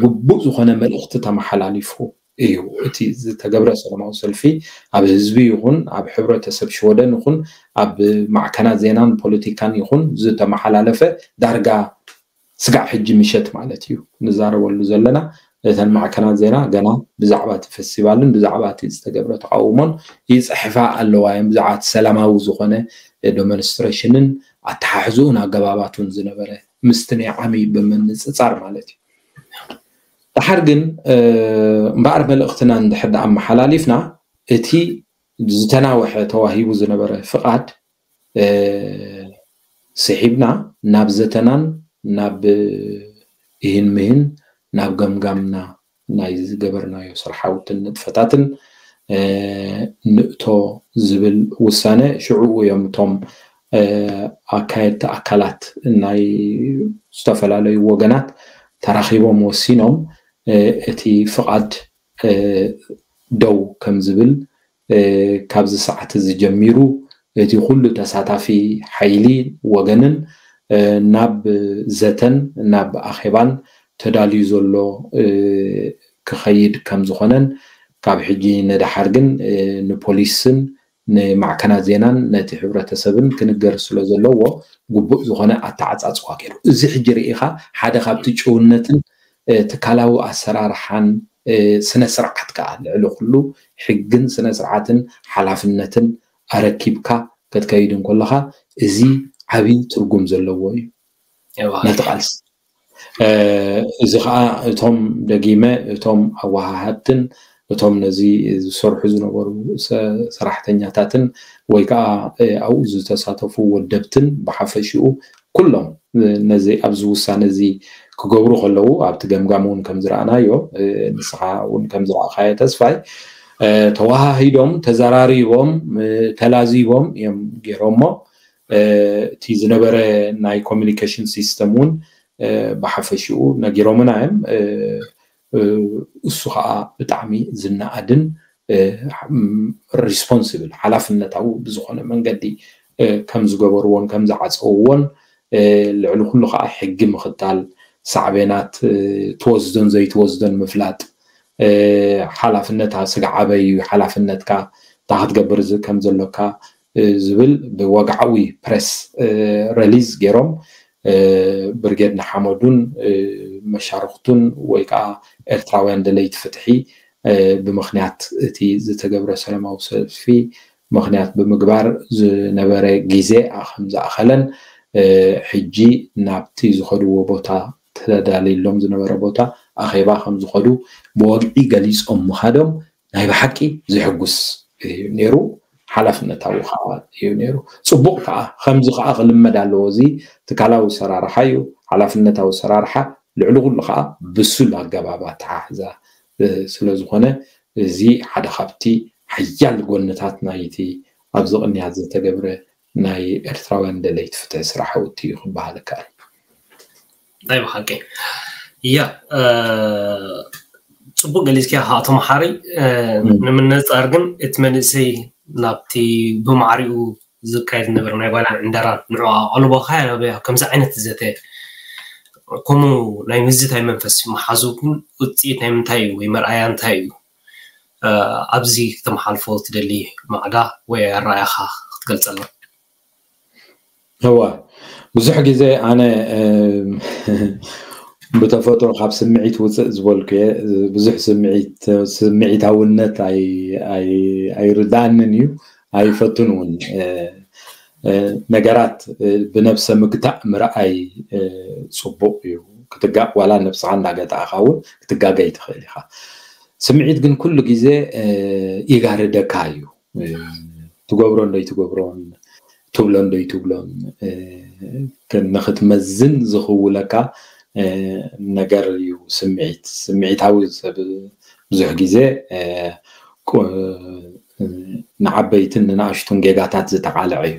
ግቡእ ዝኾነ መልእኽቲ ተመሓላሊፉ እዩ። እቲ ዝተገብረ ሰላማዊ ሰልፊ ኣብ ህዝቢ ይኹን ኣብ ሕብረተሰብ ሽወደን ይኹን ኣብ ማዕከናት ዜናን ፖለቲካን ይኹን ዝተመሓላለፈ ዳርጋ ስጋዕ ሕጂ ምሸት ማለት እዩ ንዛረበሉ ዘለና። እተን ማዕከናት ዜና ገና ብዛዕባ እቲ ፌስቲቫልን ብዛዕባ እቲ ዝተገብረ ተቃውሞን ይፅሕፋ ኣለዋ እየን። ብዛዕባ እቲ ሰላማዊ ዝኾነ ዶመንስትሬሽንን ኣተሓሕዝኡን ኣገባባቱን ዝነበረ ምስቲ ናይ ዓሚ ብምንፅፃር ማለት እዩ። ደሓር ግን እምበኣር መልእኽትና እንድሕር ደኣ ኣመሓላሊፍና እቲ ዝተናወሐ ተዋሂቡ ዝነበረ ፍቓድ ስሒብና ናብ ዘተናን ናብ እህን ምህን ናብ ገምጋምና ናይ ዝገበርናዮ ስራሓውትን ንጥፈታትን ንእቶ ዝብል ውሳነ ሽዑኡ እዮም እቶም ኣካየድቲ ኣካላት ናይ ዝተፈላለዩ ወገናት ተራኺቦም ወሲኖም እቲ ፍቓድ ደው ከም ዝብል ካብዚ ሰዓት እዚ ጀሚሩ እቲ ኩሉ ተሳታፊ ሓይሊ ወገንን ናብ ዘተን ናብ ኣኼባን ተዳልዩ ዘሎ ክኸይድ ከም ዝኾነን ካብ ሕጂ ንደሓር ግን ንፖሊስን ንማዕከናት ዜናን ነቲ ሕብረተሰብን ክንገር ስለ ዘለዎ ግቡእ ዝኾነ ኣተዓፃፅዋ ገይሩ። እዚ ሕጂ ርኢኻ ሓደ ካብቲ ጭውነትን ትካላዊ ኣሰራርሓን ስነ ስርዓት ከዓ ልዕሊ ኩሉ ሕግን ስነ ስርዓትን ሓላፍነትን ኣረኪብካ ክትከይድ እንከለኻ እዚ ዓብዪ ትርጉም ዘለዎ እዩ ነቲ ቃልሲ። እዚ ከዓ እቶም ደጊመ እቶም ኣወሃሃድትን እቶም ነዚ ዝሰርሑ ዝነበሩ ሰራሕተኛታትን ወይ ከዓ ኣብኡ ዝተሳተፉ ወደብትን ብሓፈሽኡ ኩሎም ነዚ ኣብዚ ውሳነ እዚ ክገብሩ ከለዉ ኣብቲ ገምጋም እውን ከም ዝረኣናዮ ንስኻ እውን ከም ዝረኣኻዮ ተስፋይ ተወሃሂዶም ተዘራሪቦም ተላዚቦም እዮም ገይሮሞ። እቲ ዝነበረ ናይ ኮሚኒኬሽን ሲስተም እውን ብሓፈሽኡ ነጊሮምና እዮም። እሱ ከዓ ብጣዕሚ ዝነኣድን ሪስፖንስብል ሓላፍነታዊ ብዝኾነ መንገዲ ከም ዝገበርዎን ከም ዝዓፀውዎን ልዕሊ ኩሉ ከዓ ሕጊ ምኽታል ሳዕቤናት ትወስዶን ዘይትወስዶን ምፍላጥ ሓላፍነት ስጋ ዓበይ እዩ ሓላፍነትካ እንታይ ክትገብር ከም ዘሎካ ዝብል ብወግዓዊ ፕሬስ ረሊዝ ገይሮም ብርጌድ ንሓመዱን መሻርክቱን ወይ ከዓ ኤርትራውያን ደለይቲ ፍትሒ ብምኽንያት እቲ ዝተገብረ ሰላማዊ ሰልፊ ምኽንያት ብምግባር ዝነበረ ግዜ ከም ዝኣኸለን ሕጂ ናብቲ ዝኸድዎ ቦታ ተዳልዩሎም ዝነበረ ቦታ ኣኼባ ከም ዝኸዱ ብወግዒ ገሊፆም ምኻዶም ናይ ብሓቂ ዘሕጉስ እዩ ነይሩ። ሓላፍነታዊ ከዓ እዩ ነይሩ። ፅቡቕ ከዓ ከምዚ ከዓ ክልመድ ኣለዎ። እዚ ትካላዊ ኣሰራርሓ እዩ፣ ሓላፍነታዊ ኣሰራርሓ ልዕሊ ኩሉ ከዓ ብሱል ኣገባብ ኣተሓሕዛ ስለዝኾነ እዚ ሓደ ካብቲ ሓያል ጎንታት ናይቲ ኣብዚ ቅንያት ዝተገብረ ናይ ኤርትራውያን ደለይቲ ፍትሒ ስራሕውቲ እዩ ክበሃል ይከኣል። ናይ ብሓቂ እያ። ፅቡቅ ገሊፅኪያ ከዓ ተመሓሪ። ንምነፃር ግን እቲ መንእሰይ ናብቲ ብማዕሪኡ ዝካየድ ዝነበረ ናይ ጓላን ዕንደራን ንዑ ኣቐልቦ ከያበያ ከምዚ ዓይነት ዘተ ከምኡ ናይ ምዝታይ መንፈስ መሓዙ ግን ውፅኢት ናይ ምንታይ እዩ ወይ መርኣያ እንታይ እዩ? ኣብዚ ክተመሓልፎ ትደሊ ማዕዳ ወይ ኣረኣያኻ ክትገልፀልና? እዋ ብዙሕ ግዜ ኣነ ብተፈጥሮ ካብ ስምዒት ውፅእ ዝበልኩ እየ። ብዙሕ ስምዒት ስምዒታውነት ኣይርዳእንን እዩ፣ ኣይፈቱን እውን። ነገራት ብነብሰ ምግታእ ምርኣይ ፅቡቅ እዩ። ክትጋእ ዋላ ነብስኻ እንዳገታእኻ እውን ክትጋገይ ትኽእል ኢኻ። ስምዒት ግን ኩሉ ግዜ ይጋርደካ እዩ። ትገብሮ እንዶ ይትገብሮን ትብሎ እንዶ ይትብሎን ንክትመዝን ዝኽውለካ ነገር እዩ። ስምዒት ስምዒታዊ ሰብ ብዙሕ ግዜ ንዓበይትን ንናእሽቱን ጌጋታት ዝተቃልዐ እዩ።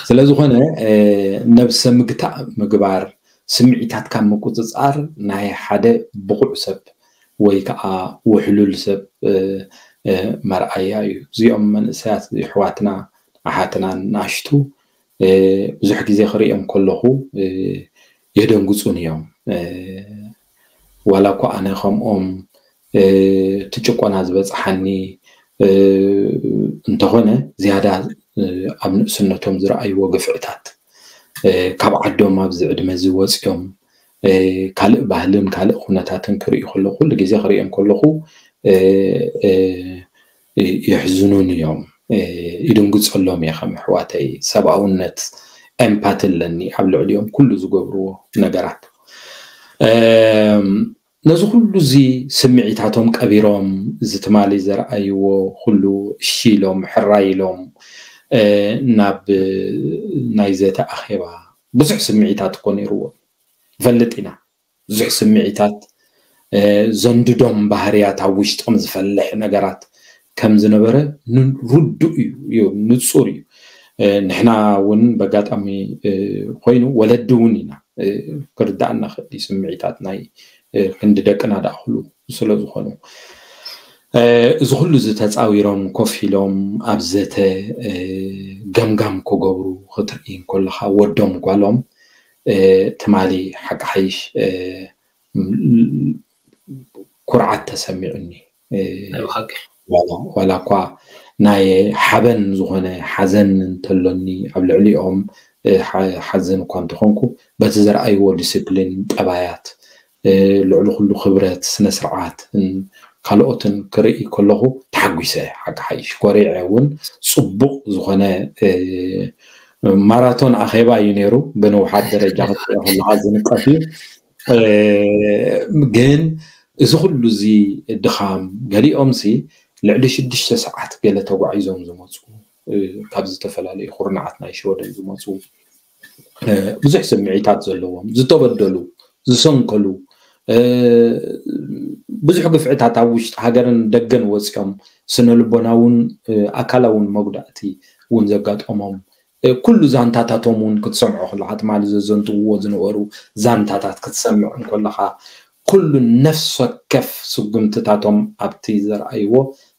ስለዝኾነ ነብሰ ምግታእ ምግባር፣ ስምዒታትካ ምቁፅፃር ናይ ሓደ ብቑዕ ሰብ ወይ ከዓ ውሕሉል ሰብ መርኣያ እዩ። እዚኦም መንእሰያት ኣሕዋትና ኣሓትናን ናሽቱ ብዙሕ ግዜ ክርእዮም ከለኹ የደንግፁን እዮም። ዋላ እኳ ኣነ ከምኦም እቲ ጭቆና ዝበፅሓኒ እንተኾነ ዝያዳ ኣብ ንእስነቶም ዝረኣይዎ ግፍዕታት ካብ ዓዶም ኣብዚ ዕድመ እዚ ወፂኦም ካልእ ባህልን ካልእ ኩነታትን ክርእዩ ከለኹ ኩሉ ግዜ ክርእዮም ከለኹ የሕዝኑን እዮም። ይድንግፀሎም እየ ከም ኣሕዋተይ ሰብኣውነት empathy ኣለኒ ኣብ ልዕሊኦም ኩሉ ዝገብርዎ ነገራት። ነዚ ኩሉ እዚ ስምዒታቶም ቀቢሮም እዚ ትማሊ ዘርኣይዎ ኩሉ እሺ ኢሎም ሕራይ ኢሎም ናብ ናይ ዘተ ኣኼባ ብዙሕ ስምዒታት እኮ ነይርዎም። ንፈልጥ ኢና ብዙሕ ስምዒታት ዘንድዶም ባህርያት ኣብ ውሽጦም ዝፈልሕ ነገራት ከም ዝነበረ ርዱእ እዩ፣ ንፁር እዩ። ንሕና እውን በጋጣሚ ኮይኑ ወለዲ እውን ኢና ክርዳእና ክእል ስምዒታት ናይ ክንዲ ደቅና ዳእክሉ ስለ ዝኾኑ እዚ ኩሉ ዝተፃዊሮም ኮፍ ኢሎም ኣብ ዘተ ገምጋም ክገብሩ ክትርኢ እንከለካ ወዶም ጓሎም ትማሊ ሓቂ ሓይሽ ኩርዓት ተሰሚዑኒ። ዋላ እኳ ናይ ሓበን ዝኾነ ሓዘን እንተሎኒ ኣብ ልዕሊኦም ሓዝን እኳ እንተኾንኩ በቲ ዘርኣይዎ ዲስፕሊን ጠባያት ልዕሊ ኩሉ ክብረት ስነ ስርዓት ካልኦትን ክርኢ ከለኹ ተሓጒሰ። ሓቂ ሓይሽ ኮሪዐ እውን ፅቡቅ ዝኾነ ማራቶን ኣኼባ እዩ ነይሩ። ብንውሓት ደረጃ ክትሪኦ ከለካ ዝንቀፍ እዩ። ግን እዚ ኩሉ እዚ ድኻም ገሊኦም ሲ ልዕሊ ሽዱሽተ ሰዓት ገለ ተጓዒዞም ዝመፁ ካብ ዝተፈላለዩ ኩርናዓት ናይ ሽወደን ዝመፁ ብዙሕ ስምዒታት ዘለዎም ዝተበደሉ ዝሰንከሉ ብዙሕ ግፍዕታት ኣብ ውሽጢ ሃገርን ደገን ወፂኦም ስነ ልቦናውን ኣካላውን መጉዳእቲ እውን ዘጋጠሞም ኩሉ ዛንታታቶም እውን ክትሰምዖ ከለካ ትማሊ ዘዘንትውዎ ዝነበሩ ዛንታታት ክትሰምዕ እንከለካ ኩሉ ነፍስ ወከፍ ስጉምትታቶም ኣብቲ ዘርኣይዎ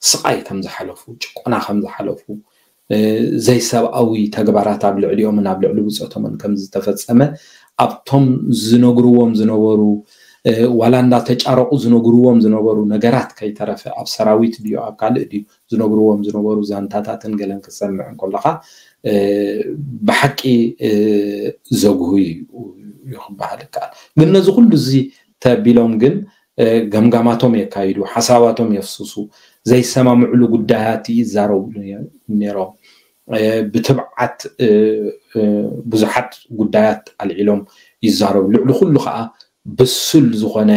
ስቃይ ከም ዝሓለፉ ጭቆና ከም ዝሓለፉ ዘይሰብኣዊ ተግባራት ኣብ ልዕሊኦምን ኣብ ልዕሊ ብፆቶምን ከም ዝተፈፀመ ኣብቶም ዝነግርዎም ዝነበሩ ዋላ እንዳተጫረቁ ዝነግርዎም ዝነበሩ ነገራት ከይተረፈ ኣብ ሰራዊት ድዩ ኣብ ካልእ ድዩ ዝነግርዎም ዝነበሩ ዛንታታትን ገለን ክትሰምዕ እንከለካ ብሓቂ ዘጉሁ እዩ ክበሃል ይከኣል። ግን ነዚ ኩሉ እዚ ተቢሎም ግን ገምጋማቶም የካይዱ፣ ሓሳባቶም የፍስሱ፣ ዘይሰማምዕሉ ጉዳያት ይዛረብሉ ነይሮም። ብትብዓት ብዙሓት ጉዳያት ኣልዒሎም ይዛረቡ። ልዕሊ ኩሉ ከዓ ብሱል ዝኾነ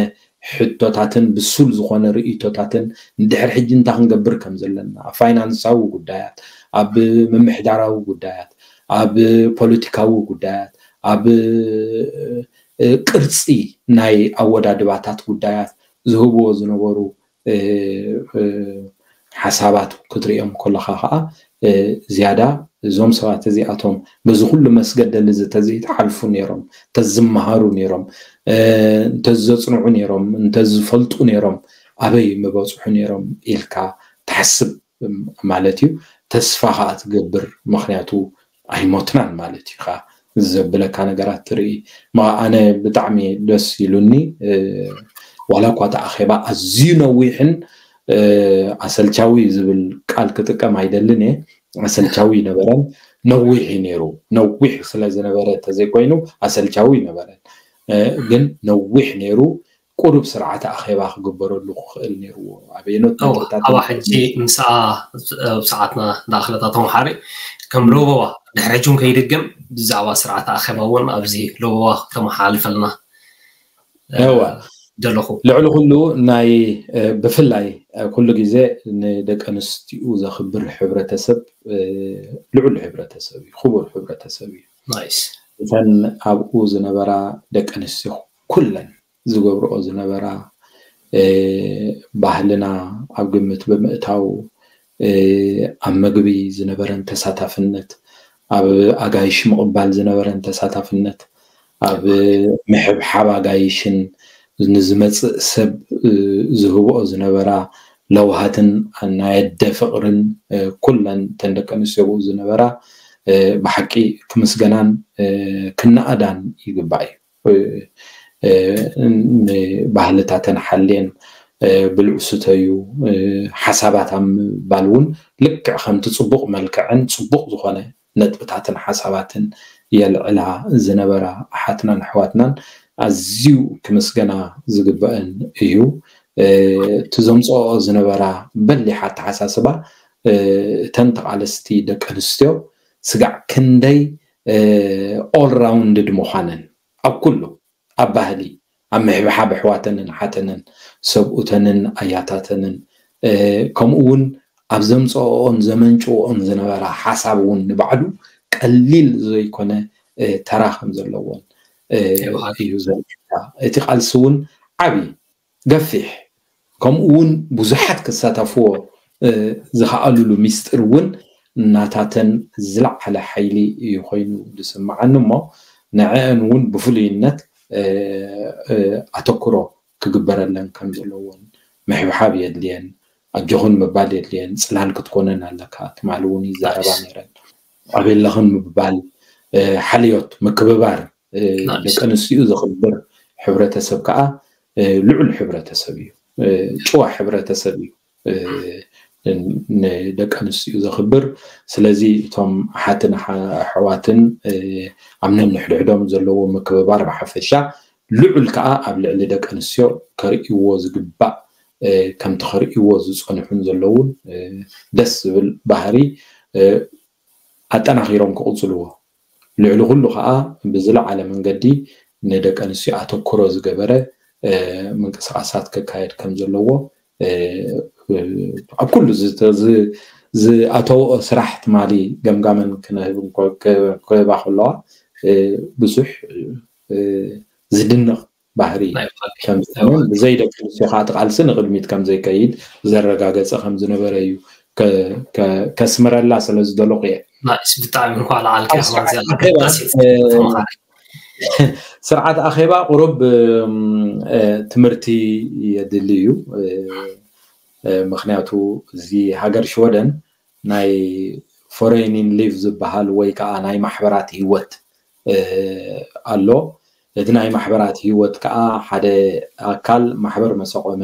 ሕቶታትን ብሱል ዝኾነ ርእይቶታትን ንድሕሪ ሕጂ እንታይ ክንገብር ከም ዘለና ኣብ ፋይናንሳዊ ጉዳያት፣ ኣብ ምምሕዳራዊ ጉዳያት፣ ኣብ ፖለቲካዊ ጉዳያት፣ ኣብ ቅርፂ ናይ ኣወዳድባታት ጉዳያት ዝህብዎ ዝነበሩ ሓሳባት ክትሪኦም ከለካ ከዓ ዝያዳ እዞም ሰባት እዚኣቶም በዚ ኩሉ መስገደል እዚ ተዘይተሓልፉ ነይሮም እንተዝመሃሩ ነይሮም እንተዘፅንዑ ነይሮም እንተዝፈልጡ ነይሮም ኣበይ ምበፅሑ ነይሮም ኢልካ ትሓስብ ማለት እዩ። ተስፋ ከዓ ትገብር ምክንያቱ ኣይሞትናን ማለት እዩ። ዘብለካ ነገራት ትርኢ ኣነ ብጣዕሚ ደስ ኢሉኒ። ዋላ እኳ እቲ ኣኼባ ኣዝዩ ነዊሕን ኣሰልቻዊ ዝብል ቃል ክጥቀም ኣይደልን እየ። ኣሰልቻዊ ይነበረን ነዊሕ እዩ ነይሩ። ነዊሕ ስለ ዝነበረ እንተዘይኮይኑ ኣሰልቻዊ ይነበረን። ግን ነዊሕ ነይሩ። ቁሩብ ስርዓተ ኣኼባ ክግበረሉ ክኽእል ነይርዎ። ኣበየኖት ነጥብታት ኣብ ሕጂ ምስኣ ኣብ ሰዓትና ዳኣኽለታ ተምሓሪ ከም ለበዋ ድሕሪ ሕጂ እውን ከይድገም ብዛዕባ ስርዓተ ኣኼባ እውን ኣብዚ ለበዋ ተመሓላልፈልና እወ ደለኹ። ልዕሊ ኩሉ ናይ ብፍላይ ኩሉ ግዜ ንደቂ ኣንስትኡ ዘኽብር ሕብረተሰብ ልዑል ሕብረተሰብ እዩ፣ ክቡር ሕብረተሰብ እዩ። ናይስ እተን ኣብኡ ዝነበራ ደቂ ኣንስትዮ ኩለን ዝገብርኦ ዝነበራ ባህልና ኣብ ግምት ብምእታው ኣብ መግቢ ዝነበረን ተሳታፍነት፣ ኣብ ኣጋይሽ ምቕባል ዝነበረን ተሳታፍነት፣ ኣብ ምሕብሓብ ኣጋይሽን ንዝመፅእ ሰብ ዝህብኦ ዝነበራ ለውሃትን ናይ ኣደ ፍቕርን ኩለን እተን ደቂ ኣንስትዮ ብኡ ዝነበራ ብሓቂ ክምስገናን ክነኣዳን ይግባእ እዩ። ንባህልታተን ሓልየን ብልዑ ስተዩ ሓሳባት ኣብ ምባል እውን ልክዕ ከምቲ ፅቡቕ መልክዕን ፅቡቕ ዝኾነ ነጥብታትን ሓሳባትን የልዕላ ዝነበራ ኣሓትናን ኣሕዋትናን ኣዝዩ ክምስገና ዝግበአን እዩ። እቲ ዘምፅኦ ዝነበራ በሊሕ ኣተሓሳስባ እተን ተቓለስቲ ደቂ ኣንስትዮ ስጋዕ ክንደይ ኦል ራውንድድ ምዃነን ኣብ ኩሉ ኣብ ባህሊ ኣብ ምሕብሓብ ኣሕዋተንን ሓተንን ሰብኡተንን ኣያታተንን ከምኡ እውን ኣብ ዘምፅኦኦን ዘመንጭኦኦን ዝነበራ ሓሳብ እውን ንባዕሉ ቀሊል ዘይኮነ ተራ ከም ዘለዎን እዩ ዘርእየካ። እቲ ቃልሲ እውን ዓብዪ ገፊሕ ከምኡ እውን ብዙሓት ክሳተፍዎ ዝኸኣሉሉ ሚስጥር እውን ናታተን ዝለዓለ ሓይሊ እዩ ኮይኑ ዝስምዓኒ እሞ ንዐአን እውን ብፍሉይነት ኣተኩሮ ክግበረለን ከም ዘለዎን ምሕብሓብ የድልየን ኣጆኹን ምባል የድልየን ፅላል ክትኮነን ኣለካ ትማሊ እውን ይዛረባ ነይረን ኣበለኽን ምባል ሓልዮት ምክብባር ደቂ ኣንስትኡ ዘኽብር ሕብረተሰብ ከዓ ልዑል ሕብረተሰብ እዩ። ጭዋ ሕብረተሰብ እዩ ንደቂ ኣንስትኡ ዘኽብር። ስለዚ እቶም ኣሓትን ኣሕዋትን ኣብ ነንሕድሕዶም ዘለዎ ምክብባር ብሓፈሻ ልዑል ከዓ ኣብ ልዕሊ ደቂ ኣንስትዮ ከርእይዎ ዝግባእ ከምቲ ከርእይዎ ዝፀንሑን ዘለውን ደስ ዝብል ባህሪ ኣጠናኺሮም ክቕፅልዎ ልዕሊ ኩሉ ከዓ ብዝለዓለ መንገዲ ንደቂ ኣንስትዮ ኣተኩሮ ዝገበረ ምንቅስቃሳት ክካየድ ከም ዘለዎ ኣብ ኩሉ ዝኣተወኦ ስራሕ ትማሊ ገምጋመን ክነህብ ክህባ ከለዋ ብዙሕ ዝድነቕ ባህሪ ከም ዝኾነን ብዘይ ደቂ ኣንስትዮ ከዓ እቲ ቃልሲ ንቕድሚት ከም ዘይከይድ ዘረጋገፀ ከም ዝነበረ እዩ ከስምረላ ስለ ዝደለኹ እየ። ብጣዕሚ እንኳዕ ለዓልካ ስርዓት ኣኼባ ቁሩብ ትምህርቲ የድሊ እዩ። ምክንያቱ እዚ ሃገር ሽወደን ናይ ፎሬኒን ሊቭ ዝበሃል ወይ ከዓ ናይ ማሕበራት ህይወት ኣሎ። እቲ ናይ ማሕበራት ህይወት ከዓ ሓደ ኣካል ማሕበር መሰቆመ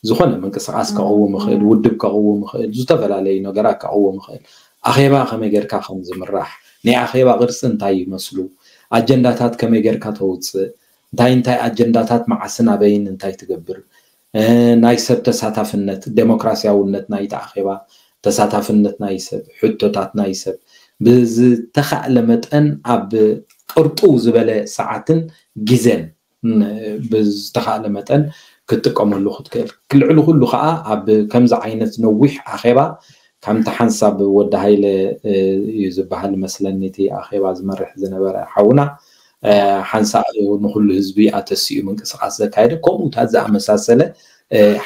ዝኾነ ምንቅስቃስ ከቕውም ይኽእል፣ ውድብ ከቕውም ይኽእል፣ ዝተፈላለዩ ነገራት ከቕውም ይኽእል። ኣኼባ ከመይ ጌርካ ከም ዝምራሕ፣ ናይ ኣኼባ ቅርፂ እንታይ ይመስሉ፣ ኣጀንዳታት ከመይ ጌርካ ተውፅእ፣ እንታይ እንታይ ኣጀንዳታት መዓስን ኣበይን እንታይ ትገብር፣ ናይ ሰብ ተሳታፍነት፣ ዴሞክራሲያውነት ናይቲ ኣኼባ፣ ተሳታፍነት ናይ ሰብ፣ ሕቶታት ናይ ሰብ ብዝተኻእለ መጠን ኣብ ቅርጥው ዝበለ ሰዓትን ግዜን ብዝተኻእለ መጠን ክትጥቀመሉ ክትክእል። ልዕሊ ኩሉ ከዓ ኣብ ከምዚ ዓይነት ነዊሕ ኣኼባ ከምቲ ሓንሳብ ወዲ ሃይለ እዩ ዝበሃል መስለኒ እቲ ኣኼባ ዝመርሕ ዝነበረ ሓውና ሓንሳእ ንኩሉ ህዝቢ ኣተሲኡ ምንቅስቃስ ዘካየደ ከምኡታት ዝኣመሳሰለ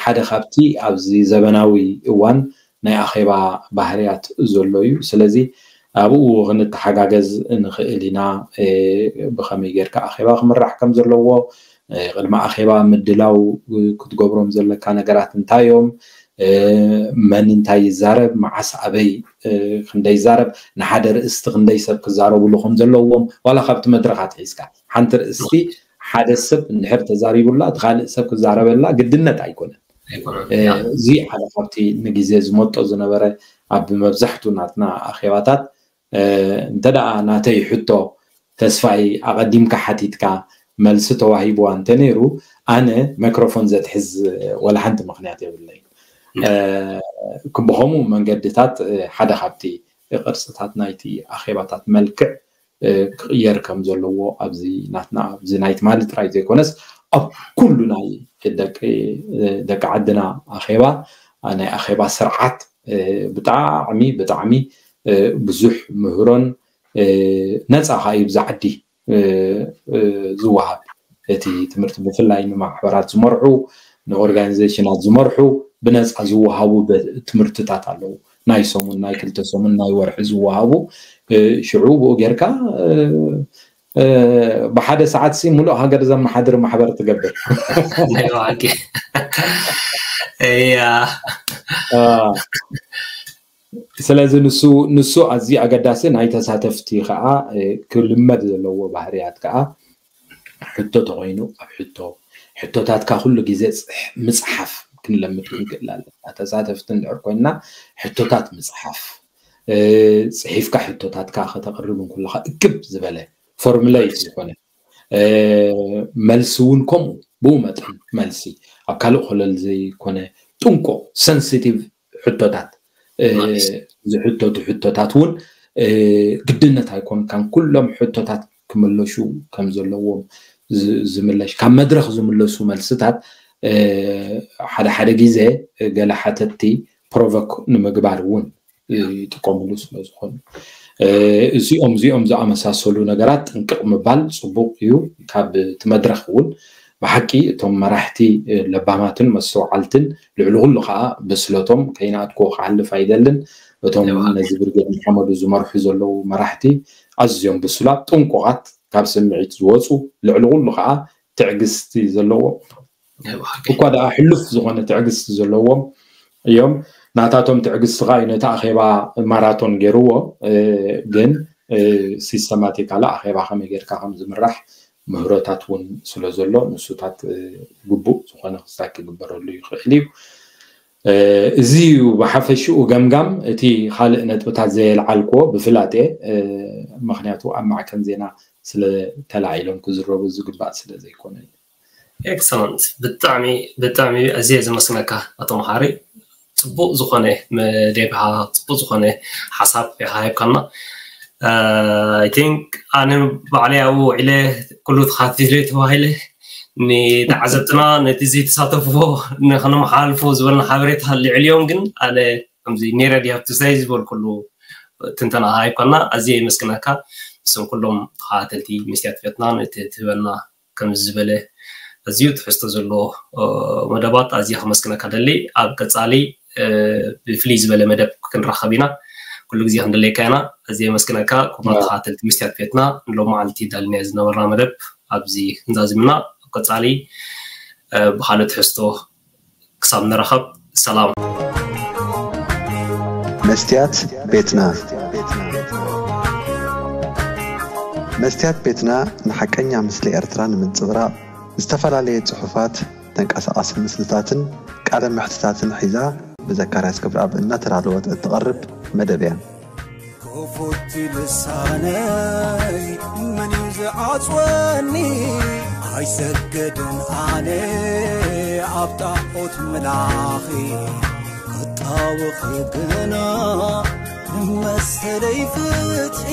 ሓደ ካብቲ ኣብዚ ዘበናዊ እዋን ናይ ኣኼባ ባህርያት ዘሎ እዩ። ስለዚ ኣብኡ ክንተሓጋገዝ ንኽእል ኢና። ብኸመይ ጌርካ ኣኼባ ክምራሕ ከም ዘለዎ፣ ቅድሚ ኣኼባ ምድላው ክትገብሮም ዘለካ ነገራት እንታይ እዮም፣ መን እንታይ ይዛረብ፣ መዓስ ኣበይ ክንደይ ይዛረብ፣ ንሓደ ርእስቲ ክንደይ ሰብ ክዛረብሉ ከም ዘለዎም ዋላ ካብቲ መድረኽ ኣትሒዝካ ሓንቲ ርእስቲ ሓደ ሰብ እንድሕር ተዛሪቡላ እቲ ካልእ ሰብ ክዛረበላ ግድነት ኣይኮነን። እዚ ሓደ ካብቲ ንግዜ ዝመጦ ዝነበረ ኣብ መብዛሕቱ ናትና ኣኼባታት እንተ ደኣ ናተይ ሕቶ ተስፋይ ኣቐዲምካ ሓቲትካ መልሲ ተዋሂብዋ እንተነይሩ፣ ኣነ ማይክሮፎን ዘትሕዝ ወላ ሓንቲ ምኽንያት የብለይ። ብኸምኡ መንገድታት ሓደ ካብቲ ቅርፅታት ናይቲ ኣኼባታት መልክዕ ክቕየር ከም ዘለዎ ኣብዚ ናትና ኣብዚ ናይ ትማሊ ጥራይ ዘይኮነስ ኣብ ኩሉ ናይ ደቂ ዓድና ኣኼባ ናይ ኣኼባ ስርዓት ብጣዕሚ ብጣዕሚ ብዙሕ ምህሮን ነፃ ከዓ እዩ ብዛ ዓዲ ዝወሃብ እቲ ትምህርቲ ብፍላይ ንማሕበራት ዝመርሑ ንኦርጋኒዜሽናት ዝመርሑ ብነፃ ዝወሃቡ ትምህርትታት ኣለዉ ናይ ሰሙን ናይ ክልተ ሰሙን ናይ ወርሒ ዝወሃቡ ሽዑ ብኡ ጌርካ ብሓደ ሰዓት ሲ ሙሉእ ሃገር ዘመሓድር ማሕበር ትገብር እያ ስለዚ ንሱ ንሱ ኣዝዩ ኣገዳሲ ናይ ተሳተፍቲ ከዓ ክልመድ ዘለዎ ባህርያት ከዓ ሕቶ ተኮይኑ ኣብ ሕቶ ሕቶታትካ ኩሉ ግዜ ምፅሓፍ ክንለምድ ክንክእል ኣለና ተሳተፍቲ እንድሕር ኮይንና ሕቶታት ምፅሓፍ ፅሒፍካ ሕቶታትካ ከተቅርብ እንኩለካ እክብ ዝበለ ፎርሙለይት ዝኾነ መልሲ እውን ከምኡ ብኡ መጠን መልሲ ኣብ ካልእ ኮለል ዘይኮነ ጥንቆ ሰንሲቲቭ ሕቶታት ዝሕተቱ ሕቶታት እውን ግድነት ኣይኮንካን ኩሎም ሕቶታት ክምለሹ ከም ዘለዎም ዝምለሽ ካብ መድረክ ዝምለሱ መልስታት ሓደ ሓደ ግዜ ገለ ሓተትቲ ፕሮቮክ ንምግባር እውን ይጥቀምሉ ስለዝኾኑ እዚኦም እዚኦም ዝኣመሳሰሉ ነገራት ጥንቅቕ ምባል ፅቡቅ እዩ ካብ እቲ መድረክ እውን ብሓቂ እቶም መራሕቲ ለባማትን መስተውዓልትን ልዕሊ ኩሉ ከዓ ብስለቶም ከይናትኮ ክሓልፍ ኣይደልን እቶም ነዚ ብርጌድ ንሓመዱ ዝመርሑ ዘለዉ መራሕቲ ኣዝዮም ብስላት ጥንቁቓት ካብ ስምዒት ዝወፁ ልዕሊ ኩሉ ከዓ ትዕግስቲ ዘለዎ እኳ ደኣ ሕሉፍ ዝኾነ ትዕግስቲ ዘለዎም እዮም ናታቶም ትዕግስቲ ከዓ ነቲ ኣኼባ ማራቶን ገይርዎ ግን ሲስተማቲካሊ ኣኼባ ከመይ ጌርካ ከም ዝምራሕ ምህሮታት እውን ስለ ዘሎ ንሱታት ግቡእ ዝኾነ ክስታይ ክግበረሉ ይኽእል እዩ እዚ እዩ ብሓፈሽኡ ገምጋም እቲ ካልእ ነጥብታት ዘየልዓልክዎ ብፍላጥ ምክንያቱ ኣብ ማዕከን ዜና ስለተላዒሎም ክዝረቡ ዝግባእ ስለ ዘይኮነ እዩ ኤክሰለንት ብጣዕሚ ብጣዕሚ ኣዝየ ዘመስግነካ ኣቶ መሓሪ ፅቡቅ ዝኾነ መደብካ ፅቡቅ ዝኾነ ሓሳብ ኢካ ሂብካና I think ኣነ ባዕለይ ኣብኡ ውዒለ ኩሉ ተኻቲለ ተባሂለ ንተዓዘብትና ነቲ ዘይተሳተፍዎ ንክነመሓላልፎ ዝበልና ሓበሬታ ልዕልዮም ግን ኣነ ከምዚ ኔረ ድያ ትሳይ ዝበልኩሉ ትንተና ሃይኮና ኣዝየ የመስግነካ ንስም ኩሎም ተኸታተልቲ መስትያት ቤትና ነቲ ትህበና ከምዚ ዝበለ ኣዝዩ ትሕዝቶ ዘለዎ መደባት ኣዝየ ከመስግነካ ደሊ ኣብ ቀፃሊ ብፍልይ ዝበለ መደብ ክንራኸብ ኢና ኩሉ ግዜ ክንደለየካ ኢና ኣዝየ የመስግነካ ክቡራት ተኸታተልቲ መስትያት ቤትና ንሎማዓልቲ ዳልናዮ ዝነበርና መደብ ኣብዚ ክንዛዝምና ኣብ ቀፃሊ ብካልእ ትሕዝቶ ክሳብ ንራኸብ ሰላም መስትያት ቤትና መስትያት ቤትና ንሓቀኛ ምስሊ ኤርትራ ንምንጽብራቕ ዝተፈላለየ ጽሑፋት ተንቀሳቓሲ ምስልታትን ቃለ ምሕትታትን ሒዛ ብዘካርያስ ክብረኣብ እናተዳለወት እትቐርብ መደብ እያ ክፉት ልሳነይ መን እዩ ዝዓፅወኒ ኣይሰገድን ኣነ ኣብ ጣዖት ምላኺ ክጣወኺ ግና ንመሰለይ ፍትሒ